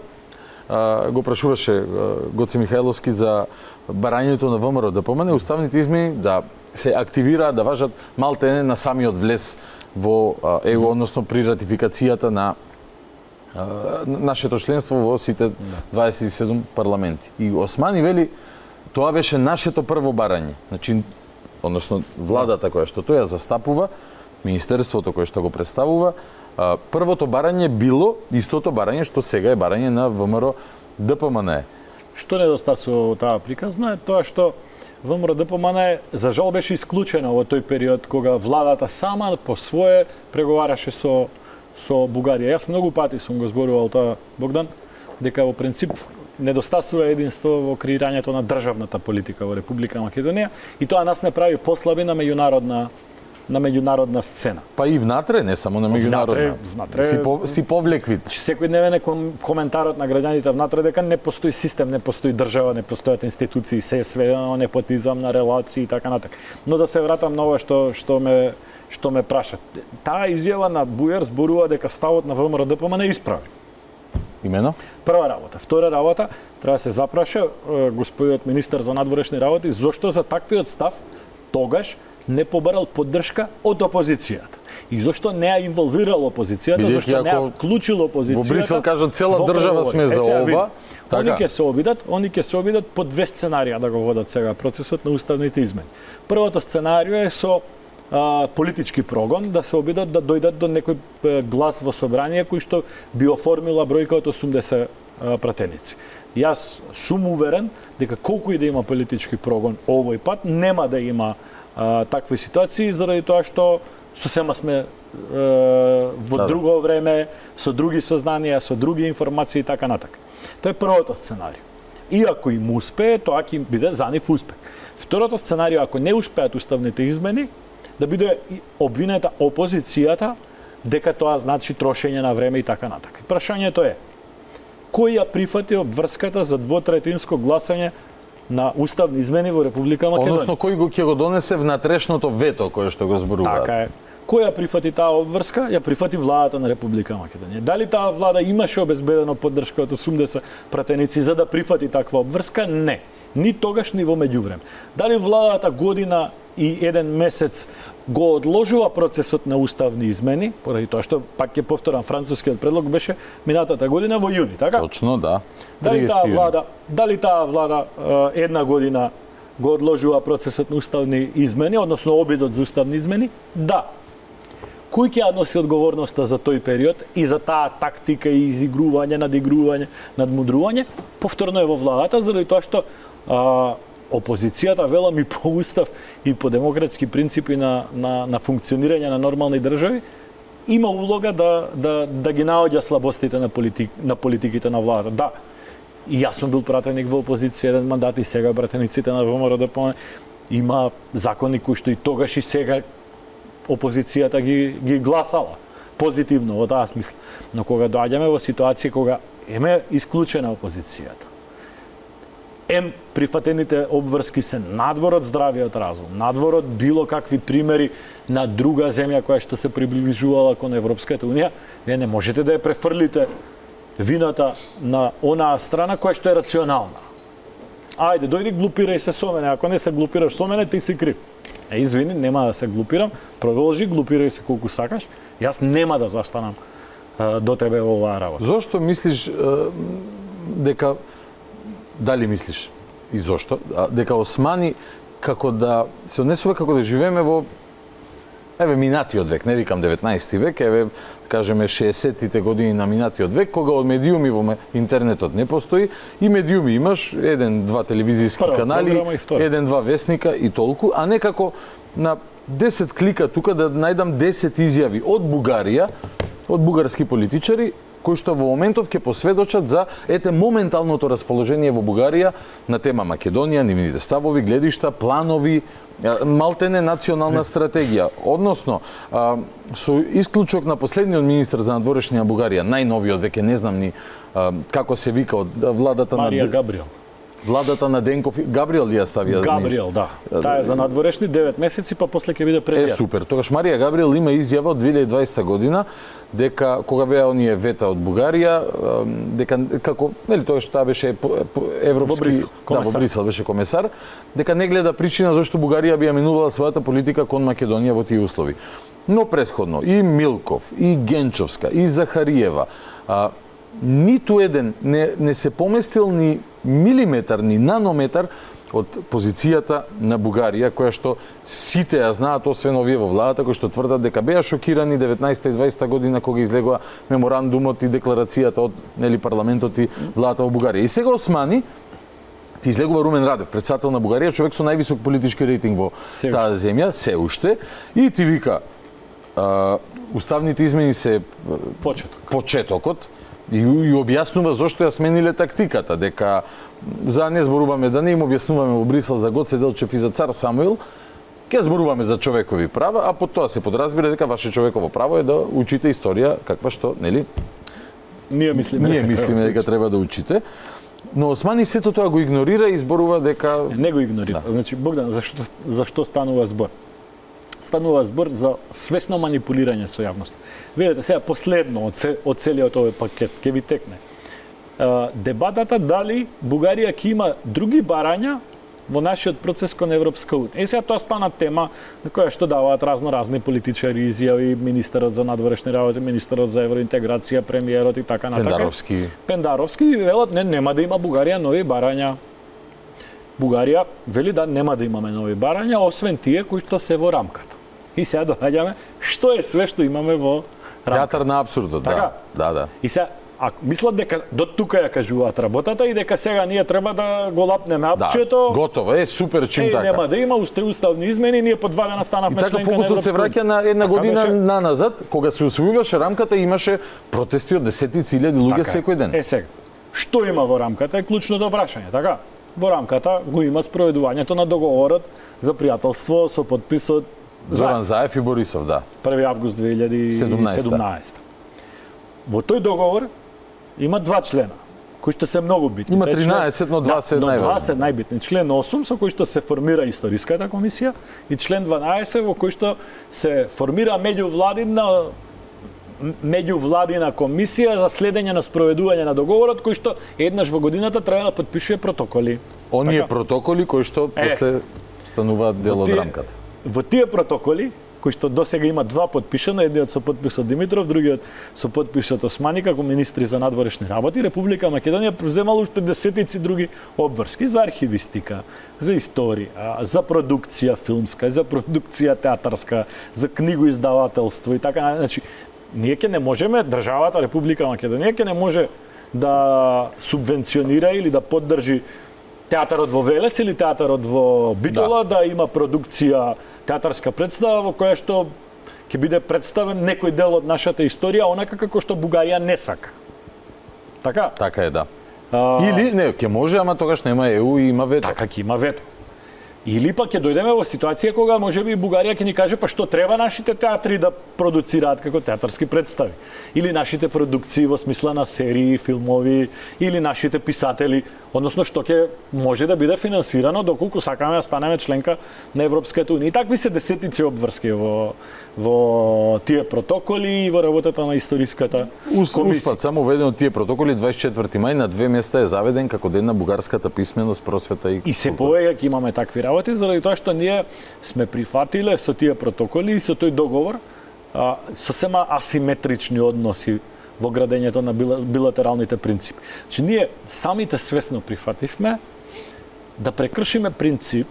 го прашуваше Гоце Михајловски за барањето на ВМРО да помане уставните измени да се активираат, да важат малтене на самиот влез во ЕУ, односно при ратификацијата на нашето членство во сите 27 парламенти. И Османи вели тоа беше нашето прво барање. Значи, односно владата која што тој ја застапува, министерството кое што го представува, првото барање било истото барање што сега е барање на ВМРО ДПМН. Што недостасува таа приказна е тоа што ВМРО ДПМН за жал беше исклучена во тој период кога владата сама по свое преговараше со Бугарија. Јас многу пати сум го зборувал тоа, Богдан, дека во принцип недостасува единство во креирањето на државната политика во Република Македонија и тоа нас не прави послаби на меѓународна сцена. Па и внатре, не само на меѓународна. Си повлеквит. Секојдневен е коментарот на граѓаните внатре дека не постои систем, не постои држава, не постојат институции, се е сведено на непотизам, на релации и така натака. Но да се вратам на ова што ме прашат. Таа изјава на Бујар зборува дека ставот на ВМРО ДПМН е исправен. Имено? Прва работа. Втора работа, треба да се запраша господиот министер за надворешни работи зошто за таквиот став тогаш не побарал поддршка од опозицијата. И зошто не ја инволвирал опозицијата, зошто не ја вклучил опозицијата. Во Брисел кажат цела држава сме за ова. Они ќе се обидат по две сценарија да го водат сега процесот на уставните измени. Првото сценарио е со политички прогон, да се обидат да дојдат до некој глас во собрание кој што би оформила бројка од 80 пратеници. Јас сум уверен дека колку и да има политички прогон овој пат, нема да има такви ситуации, заради тоа што сосема сме во друго време, со други сознанија, со други информации и така натака. Тоа е првото сценарио. И ако им успее, тоа ќе биде за нив успех. Второто сценарио, ако не успеат уставните измени, да биде обвинета опозицијата дека тоа значи трошење на време и така натака. Прашањето е, кој ја прифати обврската за двотретинско гласање на уставни измени во Република Македонија? Односно, кој ќе го донесе внатрешното вето кое што го зборуваат? Така е. Кој ја прифати таа обврска? Ја прифати владата на Република Македонија. Дали таа влада имаше обезбедено поддршка од 80 пратеници за да прифати таква обврска? Не. Ни тогаш, ни во меѓувреме. Дали владата година и еден месец го одложува процесот на уставни измени, поради тоа што, пак ќе повторам, францускиот предлог беше минатата година во јуни, така? Точно, да. Дали таа влада една година го одложува процесот на уставни измени, односно обидот за уставни измени? Да. Кој ќе ја носи одговорноста за тој период и за таа тактика и изигрување, надигрување, надмудрување? Повторно е во владата, заради тоа што опозицијата, велам и по устав и по демократски принципи на функционирање на нормални држави, има улога да ги наоѓа слабостите на политиките на владата. Да, и јас сум бил пратеник во опозиција еден мандат и сега пратениците на ВМРО ДПМН има закони кои што и тогаш и сега опозицијата ги гласала позитивно во таа смисла. Но кога доаѓаме во ситуација кога еме исклучена опозицијата, прифатените обврски се надвор од здравиот разум, надвор од било какви примери на друга земја која што се приближувала кон Европската Унија, вие не можете да ја префрлите вината на онаа страна која што е рационална. Ајде, дојди глупирај се со мене, ако не се глупираш со мене, ти си крив. Извини, нема да се глупирам, продолжи, глупирај се колку сакаш, јас нема да застанам до тебе во оваа работа. Зошто мислиш дека дали мислиш и зошто дека Османи како да се однесува како да живееме во минатиот век, не викам 19 век, кажеме 60-тите години на минатиот век, кога од медиуми во интернетот не постои и медиуми имаш 1-2 телевизиски канали, 1-2 вестника и толку, а не како на 10 клика тука да најдам 10 изјави од Бугарија, од бугарски политичари, кои што во моментов ќе посведочат за моменталното расположение во Бугарија на тема Македонија, нивните ставови, гледишта, планови, малтене национална стратегија. Односно, со исклучок на последниот министар за надворешни на Бугарија, најновиот веќе не знам ни како се вика од владата Марија Габриел. Владата на Денков, Габриел ли ја ставија? Габриел, да. Таа е за надворешни 9 месеци, па после ќе биде премиер. Супер. Тогаш Марија Габриел има изјава од 2020 година дека кога беа оние вета од Бугарија, дека како, нели тогаш таа беше европски, во Брисел беше комесар, дека не гледа причина зашто Бугарија би ја минувала својата политика кон Македонија во тие услови. Но претходно и Милков, и Генчовска, и Захариева, ниту еден не се поместил ни милиметар, ни нанометар од позицијата на Бугарија, која што сите ја знаат, освен овие во владата, кои што тврдат дека беа шокирани 19 и 20 година кога излегува меморандумот и декларацијата од парламентот и владата во Бугарија. И сега Османи ти излегува Румен Радев, председател на Бугарија, човек со највисок политички рейтинг во таа земја, се уште, и ти вика уставните измени се почетокот, и објаснува зошто ја смениле тактиката, дека за не зборуваме да не им објаснуваме во Брисел за Гоце Делчев и за цар Самуил, ќе зборуваме за човекови права, а под тоа се подразбира дека ваше човеково право е да учите историја каква што, нели? Ние мислиме дека треба да учите. Но Османи сето тоа го игнорира и зборува дека не го игнорира. Значи Богдан, зашто станува збор? Станува збор за свесно манипулирање со јавност. Видете, сега последно од целиот овој пакет ќе ви текне. Дебатата дали Бугарија ќе има други барања во нашиот процес кон Европска унија. И сега тоа стана тема на која што даваат разни политичари изјави, министерот за надворешни работи, министерот за евроинтеграција, премиерот и така натака. Пендаровски велат нема да има Бугарија нови барања. Бугарија вели да нема да имаме нови барања, освен тие кои што се во рамката. И сега доаѓаме што е све што имаме во рамката. Театар на абсурдот, да. И сега мислат дека до тука ја кажуваат работата и дека сега ние треба да го лапнеме апчето. Готово е, супер чим така. Нема да има уставни измени, ние по 2 дена станавме членка на Европска. И така фокусот се враќа на една година наназад, кога се усвојуваше рамката, имаше протести од десетици илјади луѓе секој ден. Сега, што има во рамката е клучното прашање, така? Во рамката го има спроведувањето на договорот за пријателство со подписот Зоран Заев и Борисов, да. 1 август 2017. Во тој договор има 2 члена, кои што се многу битни. Има 13, но 2 се најважни. 2 се најбитни. Член 8 со кој што се формира историската комисија и член 12 во кој што се формира меѓувладина комисија за следење на спроведување на договорот, кој што еднаш во годината треба да подпишува протоколи. Оние протоколи кои што после стануваат дел од рамката. Во тие протоколи, кои што досега има 2 подпишано, едниот со подписот Димитров, другиот со подписот Османи како министри за надворешни работи, Република Македонија преземала уште десетици други обврски за архивистика, за историја, за продукција филмска, за продукција театарска, за книгоиздавателство и така. Значи, ние ќе не можеме, државата Република Македонија ќе не може да субвенционира или да поддржи театарот во Велес или театарот во Битола, да има продукција театарска представа во која што ќе биде представен некој дел од нашата историја, онака како што Бугарија не сака. Така? Така е, да. Или не, ќе може, ама тогаш нема ЕУ и има вето. Така ќе има вето. Или пак ќе дојдеме во ситуација кога можеби Бугарија ќе ни каже па што треба нашите театри да продуцираат како театарски представи. Или нашите продукции во смисла на серии, филмови, или нашите писатели, односно што ќе може да биде финансирано доколку сакаме да станеме членка на Европската унија. И такви се десетици обврски во тие протоколи и во работата на историската комисија. Успат само ведено тие протоколи 24 мај на 2 места е заведен како ден на бугарската писменост, просвета и култура. И се повеќе ќе имаме такви работи заради тоа што ние сме прифатиле со тие протоколи и со тој договор сосема асиметрични односи во градењето на билатералните принципи. Значи ние самите свесно прифативме да прекршиме принцип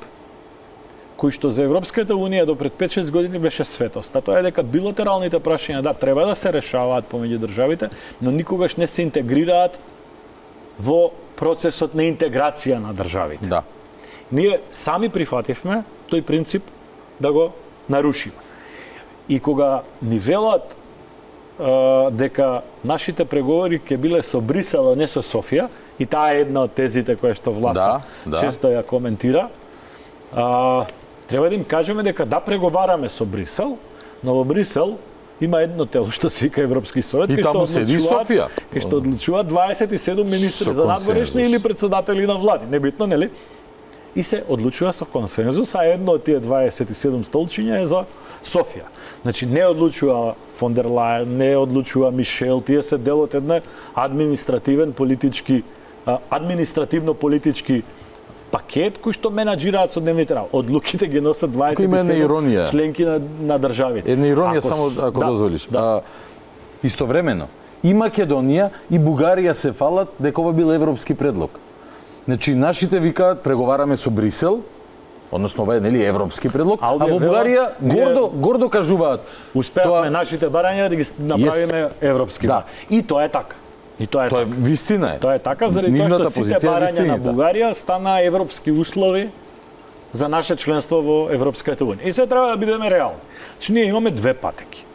кој што за Европската Унија до пред 5-6 години беше светост. А тоа е дека билатералните прашања треба да се решаваат помеѓу државите, но никогаш не се интегрираат во процесот на интеграција на државите. Да. Ние сами прифативме тој принцип да го нарушиме. И кога ни велат дека нашите преговори ќе биле со Брисел, а не со Софија, и таа е една од тезите која што власта често ја коментира, треба да им кажеме дека да преговараме со Брисел, но во Брисел има едно тело што се вика Европски совет, кај што седи Софија, кај што одлучуваат 27 министри за надворешни или председатели на влади, небитно, нели? И се одлучува со консензус, а едно од тие 27 столчиња е за Софија. Значи не одлучува фон дер Лајен, не одлучува Мишел, тие се дел од една административно-политички пакет кој што менаџираат со дневните работи. Одлуките ги носат 27 членки на државите. Една иронија само ако дозволиш. Истовремено и Македонија и Бугарија се фалат дека ова бил европски предлог. Значи нашите викаат преговараме со Брисел, односно ова е нели европски предлог, а во Бугарија гордо кажуваат успеавме нашите барања да ги направиме европски. Да. И тоа е така. И тоа е вистина е. Тоа е така заради тоа што сите барања на Бугарија стана европски услови за наше членство во Европската Унија. И се треба да бидеме реални. Значи ние имаме две патеки.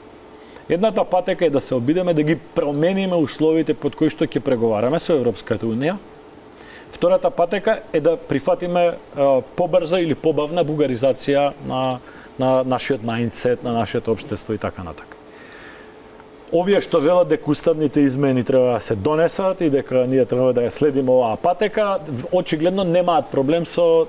Едната патека е да се обидеме да ги промениме условите под кои што ќе преговараме со Европската Унија. Втората патека е да прифатиме побрза или побавна бугаризација на нашиот мајндсет, на нашето општество и така натака. Овие што велат дека уставните измени треба да се донесат и дека ние треба да ја следиме оваа патека, очигледно немаат проблем со,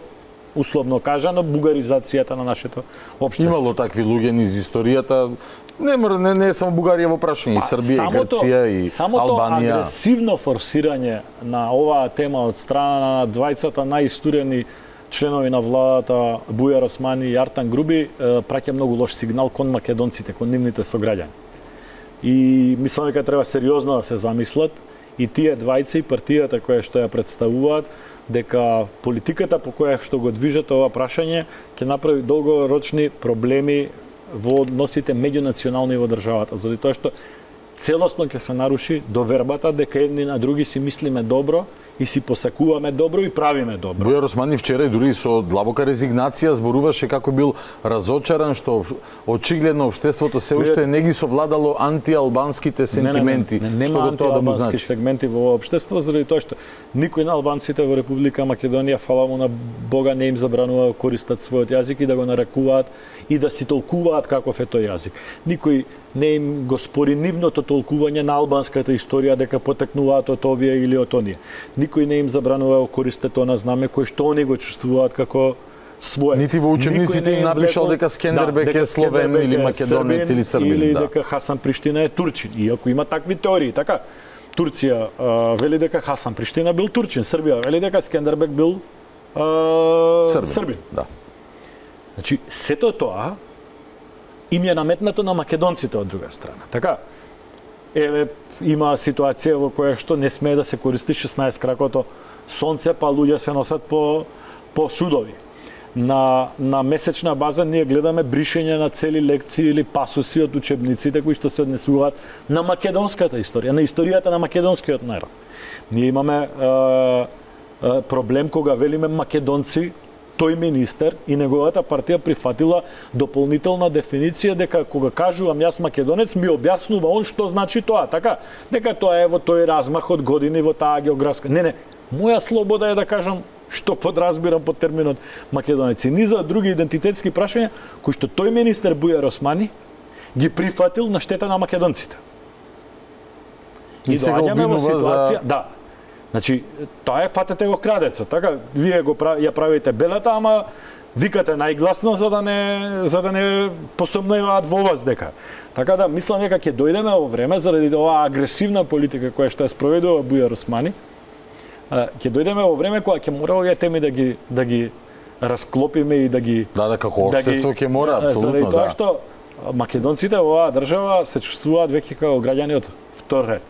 условно кажано, бугаризацијата на нашето општество. Имало такви луѓе низ историјата, не е само Бугарија во прашање, и Србија, и Грција, и Албанија. Самото агресивно форсирање на оваа тема од страна на двајцата најистурени членови на владата Бујар Османи и Артан Груби праќа многу лош сигнал кон македонците, кон нивните сограѓани. И мислам дека треба сериозно да се замислат и тие двајци и партијата која што ја представуваат дека политиката по која што го движат ова прашање ќе направи долгорочни проблеми во односите меѓунационални во државата, заради тоа што целосно ќе се наруши довербата дека едни на други си мислиме добро и си посакуваме добро и правиме добро. Бујар Османи вчера и дури со длабока резигнација зборуваше како бил разочаран што очигледно општеството се уште не ги совладало антиалбанските сентименти, што го тоа да му значи. Сегменти во општество заради тоа што никој на албанците во Република Македонија, фала му на Бога, не им забранува да користат својот јазик и да го нарекуваат и да си толкуваат каков е тој јазик. Никој не им го спори нивното толкување на албанската историја дека потекнуваат од овие или од оние. Никој не им забранува да користат она знаме кој што они го чувствуваат како свое. Нити во учебниците им напишал дека Скендербек е словен или македонец или србин. Или дека Хасан Приштина е турчин. Иако има такви теории, така? Турција вели дека Хасан Приштина бил турчин, Србија вели дека Скендербек бил србин. Да. Значи, сето тоа им е наметнато на македонците од друга страна. Така, има ситуација во која што не смее да се користи 16 кракото сонце, па луѓе се носат по судови. На месечна база ние гледаме бришење на цели лекции или пасуси од учебниците кои што се однесуваат на македонската историја, на историјата на македонскиот народ. Ние имаме проблем кога велиме македонци, тој министер и неговата партија прифатила дополнителна дефиниција дека кога кажувам јас македонец ми објаснува он што значи тоа, така? Дека тоа е во тој размах од години во таа географска. Не, моја слобода е да кажам што подразбирам под терминот македонеци. Низа други идентитетски прашања кои што тој министер Бујар Османи ги прифатил на штета на македонците. И сега обвинува за... Да. Значи, тоа е фатете го крадецот, така? Вие ја правите белата, ама викате најгласно за да не посомневаат во вас дека. Така да, мислам дека ќе дојдеме во време заради оваа агресивна политика која што ја спроведува Бујар Османи. Ќе дојдеме во време кога ќе мора овие теми да ги расклопиме и да ги... Да, како општество ќе мора, апсолутно, заради тоа што македонците во оваа држава се чувствуваат веќе како граѓани од втор ред.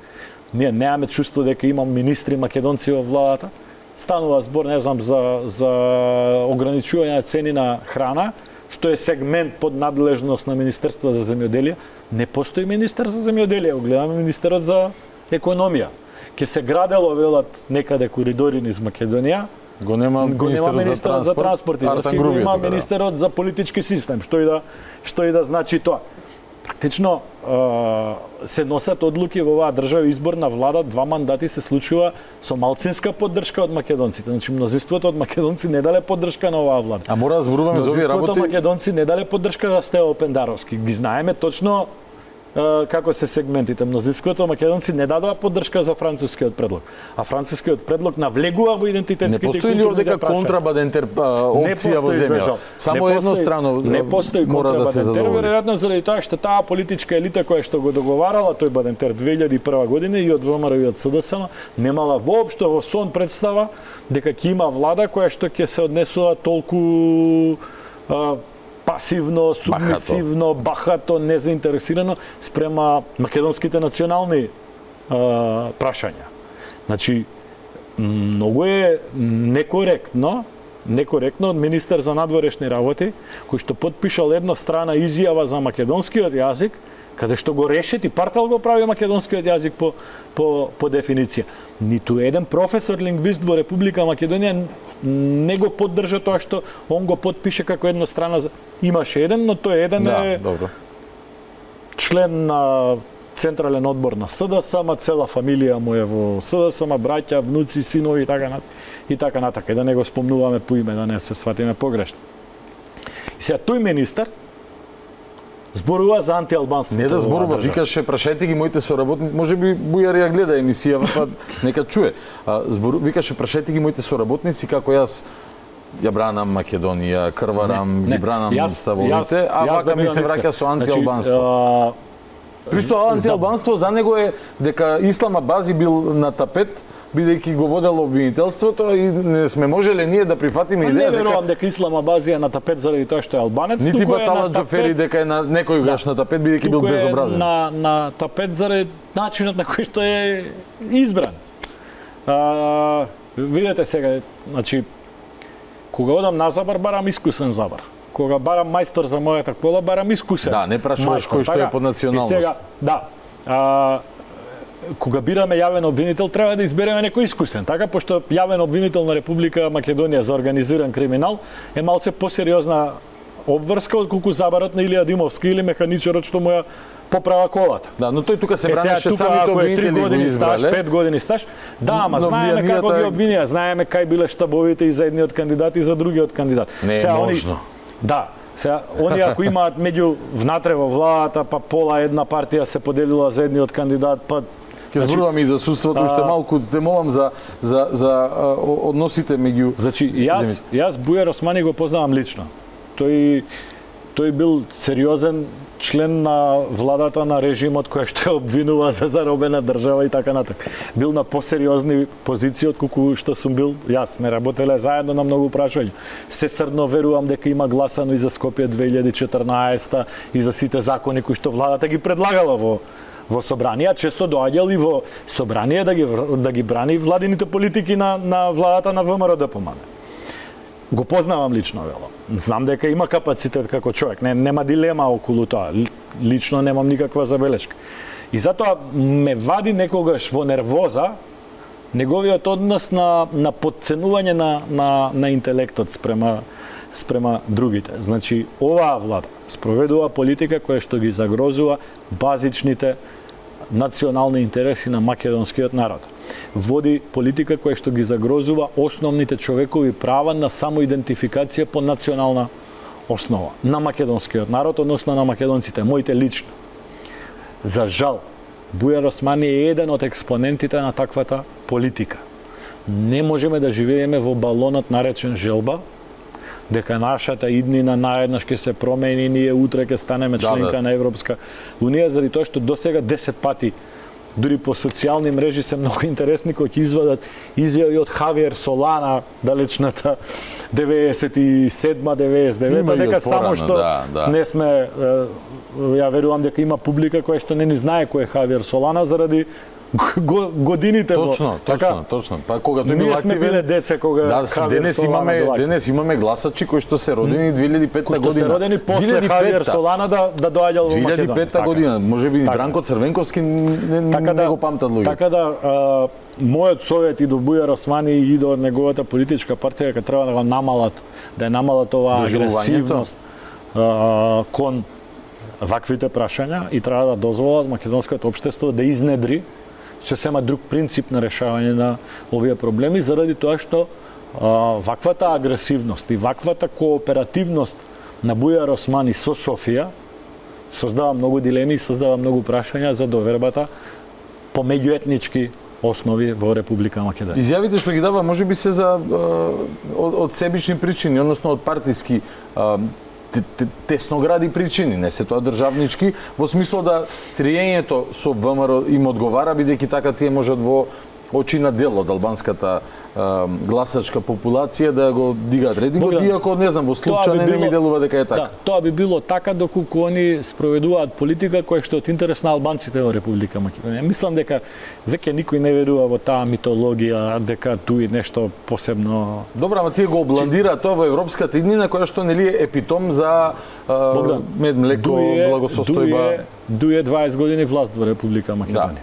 ние немаме чувство дека има министри македонци во владата. Станува збор, не знам, за ограничување на цени на храна, што е сегмент под надлежност на Министерство за земјоделие. Не постои министер за земјоделие, гледаме министерот за економија. Ке се градело, велат, некаде коридори низ Македонија, го нема министерот за транспорт, го има министерот за политички систем, што и да значи тоа. Практично се носат одлуки во оваа држава, избор на влада, 2 мандати се случува со малцинска поддршка од македонците. Значи мнозинството од македонци не дале поддршка на оваа влада. А мора да зборуваме за овие работи. Мнозинството македонци не дале поддршка за Стево Пендаровски. Ги знаеме точно како се сегментите. Мнозинството македонци не дадоа поддршка за францускиот предлог. А францускиот предлог навлегува во идентитетските не постои ли овдека контрабандентер опција во земја? Само еднострано не постои мора да се задоволи. Веројатно заради тоа што таа политичка елита која што го договарала тој Бадентер 2001 година и од ВМРО и од СДСМ немала воопшто во сон представа дека ќе има влада која што ќе се однесува толку пасивно, субмисивно, бахато, незаинтересирано спрема македонските национални прашања. Значи, многу е некоректно од министер за надворешни работи, кој што потпишал една страна изјава за македонскиот јазик, каде што го решети, партал го прави македонскиот јазик по дефиниција. Ниту еден професор лингвист во Република Македонија не го поддржа тоа што он го потпише како една страна. Имаше еден, но тој еден е член на Централен одбор на СДСМ, цела фамилија му е во СДСМ, браќа, внуци, синови и така натака. И да не го спомнуваме по име, да не се сватиме погрешно. И сега тој министер зборува за антиалбанство. Не да зборува, викаше прашајте ги моите соработници, можеби Бујар ја гледа емисијава, па нека чуе. Викаше прашајте ги моите соработници како јас ја бранам Македонија, крварам, ги бранам ставовите, а вака ми се враќа со антиалбанство. При што антиалбанство за него е дека Ислам Абази бил на тапет, бидејќи го водело обвинителството и не сме можеле ние да прифатиме идеја дека... Не верувам дека Ислам Абази е на тапет заради тоа што е албанец, нити Батала Џафери дека е на некојаш на тапет бидејќи бил безобразен. На тапет заради начинот на кој што е избран. Видете сега, значи кога одам на забар барам искусен забар. Кога барам мајстор за мојата кола барам искусен. Да, не прашуваш кој што е по националност. Сега, да. Кога бираме јавен обвинител, треба да избереме некој искусен. Така, пошто јавен обвинител на Република Македонија за организиран криминал е малце посериозна обврска отколку забарот на Илија Димовски или механичарот што му ја поправа колата. Да, но тој тука се бранеше самите обвинители го избрале. 5 години стаж. Да, ама знаеме како ги обвинија, знаеме кај биле штабовите и за едниот кандидат и за другиот кандидат. Не е можно. Да. Сега, они ако имаат меѓу внатре во владата, па пола една партија се поделила за едниот кандидат, па ќе зборуваме и за судството, уште малку те молам за односите меѓу... Значи, јас Бујар Османи го познавам лично. Тој бил сериозен член на владата на режимот кој што ја обвинува за заробена држава и така натака. Бил на посериозни позиции отколку што сум бил јас. Сме работеле заедно на многу прашања. Се срдно верувам дека има гласано и за Скопје 2014 и за сите закони кои што владата ги предлагала во собрание, често доаѓал и во собрание да ги брани владините политики на владата на ВМРО ДПМН. Го познавам лично, вело. Знам дека има капацитет како човек, нема дилема околу тоа. Лично немам никаква забелешка. И затоа ме вади некогаш во нервоза неговиот однос на подценување на интелектот спрема другите. Значи, оваа влада спроведува политика која што ги загрозува базичните национални интереси на македонскиот народ. Води политика која што ги загрозува основните човекови права на самоидентификација по национална основа на македонскиот народ, односно на македонците, моите лично. За жал, Бујар Османи е еден од експонентите на таквата политика. Не можеме да живееме во балонот наречен желба, дека нашата иднина наеднаш ќе се промени, ние утре ќе станеме членка на Европска Унија, заради тоа што досега 10 пати дури по социјални мрежи се многу интересни кои ќе извадат изјави од Хавиер Солана, далечната 97-99, дека само што не сме, ја верувам дека има публика која што не ни знае кој е Хавиер Солана заради годините. Точно. Па кога тој бил активен, ние сме биле деца кога денес имаме гласачи кои што се родени 2005 година. Кои што се родени после Хавиер Солана да доаѓал во Македонија. 2005 година, можеби и Бранко Црвенковски не го памтат луѓе. Така да мојот совет и до Бујар Османи и до неговата политичка партија дека треба да го намалат, да намалат оваа агресивност кон ваквите прашања и треба да дозволат македонското општество да изнедри сосема друг принцип на решавање на овие проблеми заради тоа што ваквата агресивност и ваквата кооперативност на Бујар Османи со Софија создава многу дилеми и создава многу прашања за довербата по меѓуетнички основи во Република Македонија. Изјавите што ги дава можеби се за од себични причини, односно од партиски тесногради причини, не се тоа државнички, во смисол да триењето со ВМРО им одговара, бидејќи така тие можат во очи на дел од албанската гласачка популација да го дигаат рейтингот, иако не знам во случај не ми делува дека е така. Да, тоа би било така доколку они спроведуваат политика која што е од интерес на албанците во Република Македонија. Мислам дека веќе никој не верува во таа митологија дека туи нешто посебно. Добра, ама тие го обландираат тоа во европската иднина која што нели е епитом за мед, млеко, благосостојба. Дуе 20 години власт во Република Македонија.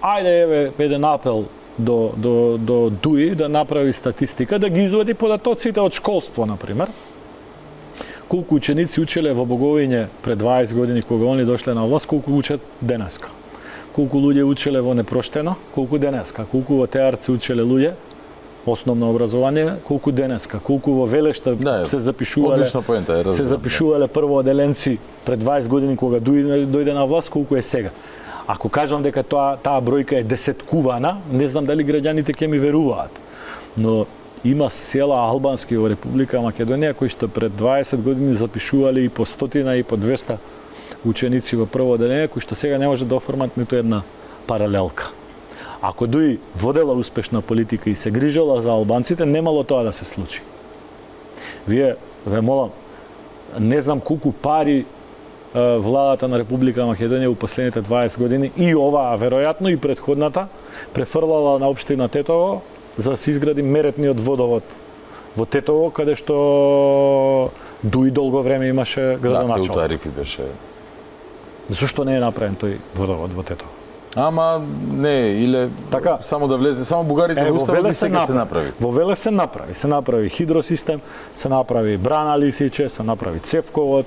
Ајде еве еден апел до ДУИ да направи статистика, да ги извади податоците од школство, например. Колку ученици учеле во Боговиње пред 20 години кога они дошле на власт, колку учат денеска. Колку луѓе учеле во Непроштено, колку денеска. Колку во Теарци учеле луѓе основно образование, колку денеска. Колку во Велешта се запишувале. Се запишувале првооделенци пред 20 години кога ДУИ дојде на власт, колку е сега. Ако кажам дека таа бројка е десеткувана, не знам дали граѓаните ќе ми веруваат. Но има села албански во Република Македонија кои што пред 20 години запишувале и по 100 и по 200 ученици во прво оделение, кои што сега не може да оформат ниту една паралелка. Ако ДУИ водела успешна политика и се грижала за албанците, немало тоа да се случи. Вие, ве молам, не знам колку пари владата на Република Македонија у последните 20 години и оваа, веројатно и предходната, префрлала на општина Тетово за да се изгради меретниот водовод во Тетово, каде што ДУИ долго време имаше градоначелник. Да, тарифи беше. Зошто не е направен тој водовод во Тетово? Ама не, или така само да влезе, само бугарите во уставот и сега се направи. Во Велес се направи хидросистем, се направи брана Лисиче, се направи цевковод,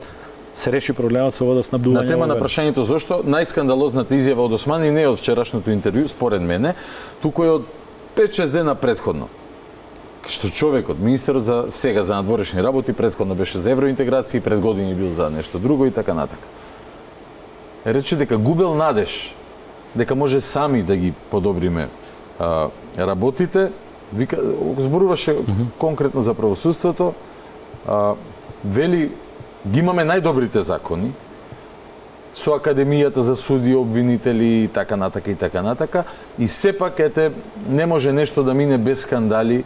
се реши проблемот со водоснабдување. На тема на прашањето зошто најскандалозната изјава од Османи не е од вчерашното интервју, според мене, туку е од 5-6 дена предходно. Што човекот, министерот за сега за надворешни работи, предходно беше за евроинтеграција, пред години бил за нешто друго и така натака. Рече дека губел надеж дека може сами да ги подобриме работите, зборуваше конкретно за правосудството, вели ги имаме најдобрите закони, со Академијата за суди, обвинители и така натака, и сепак не може нешто да мине без скандали.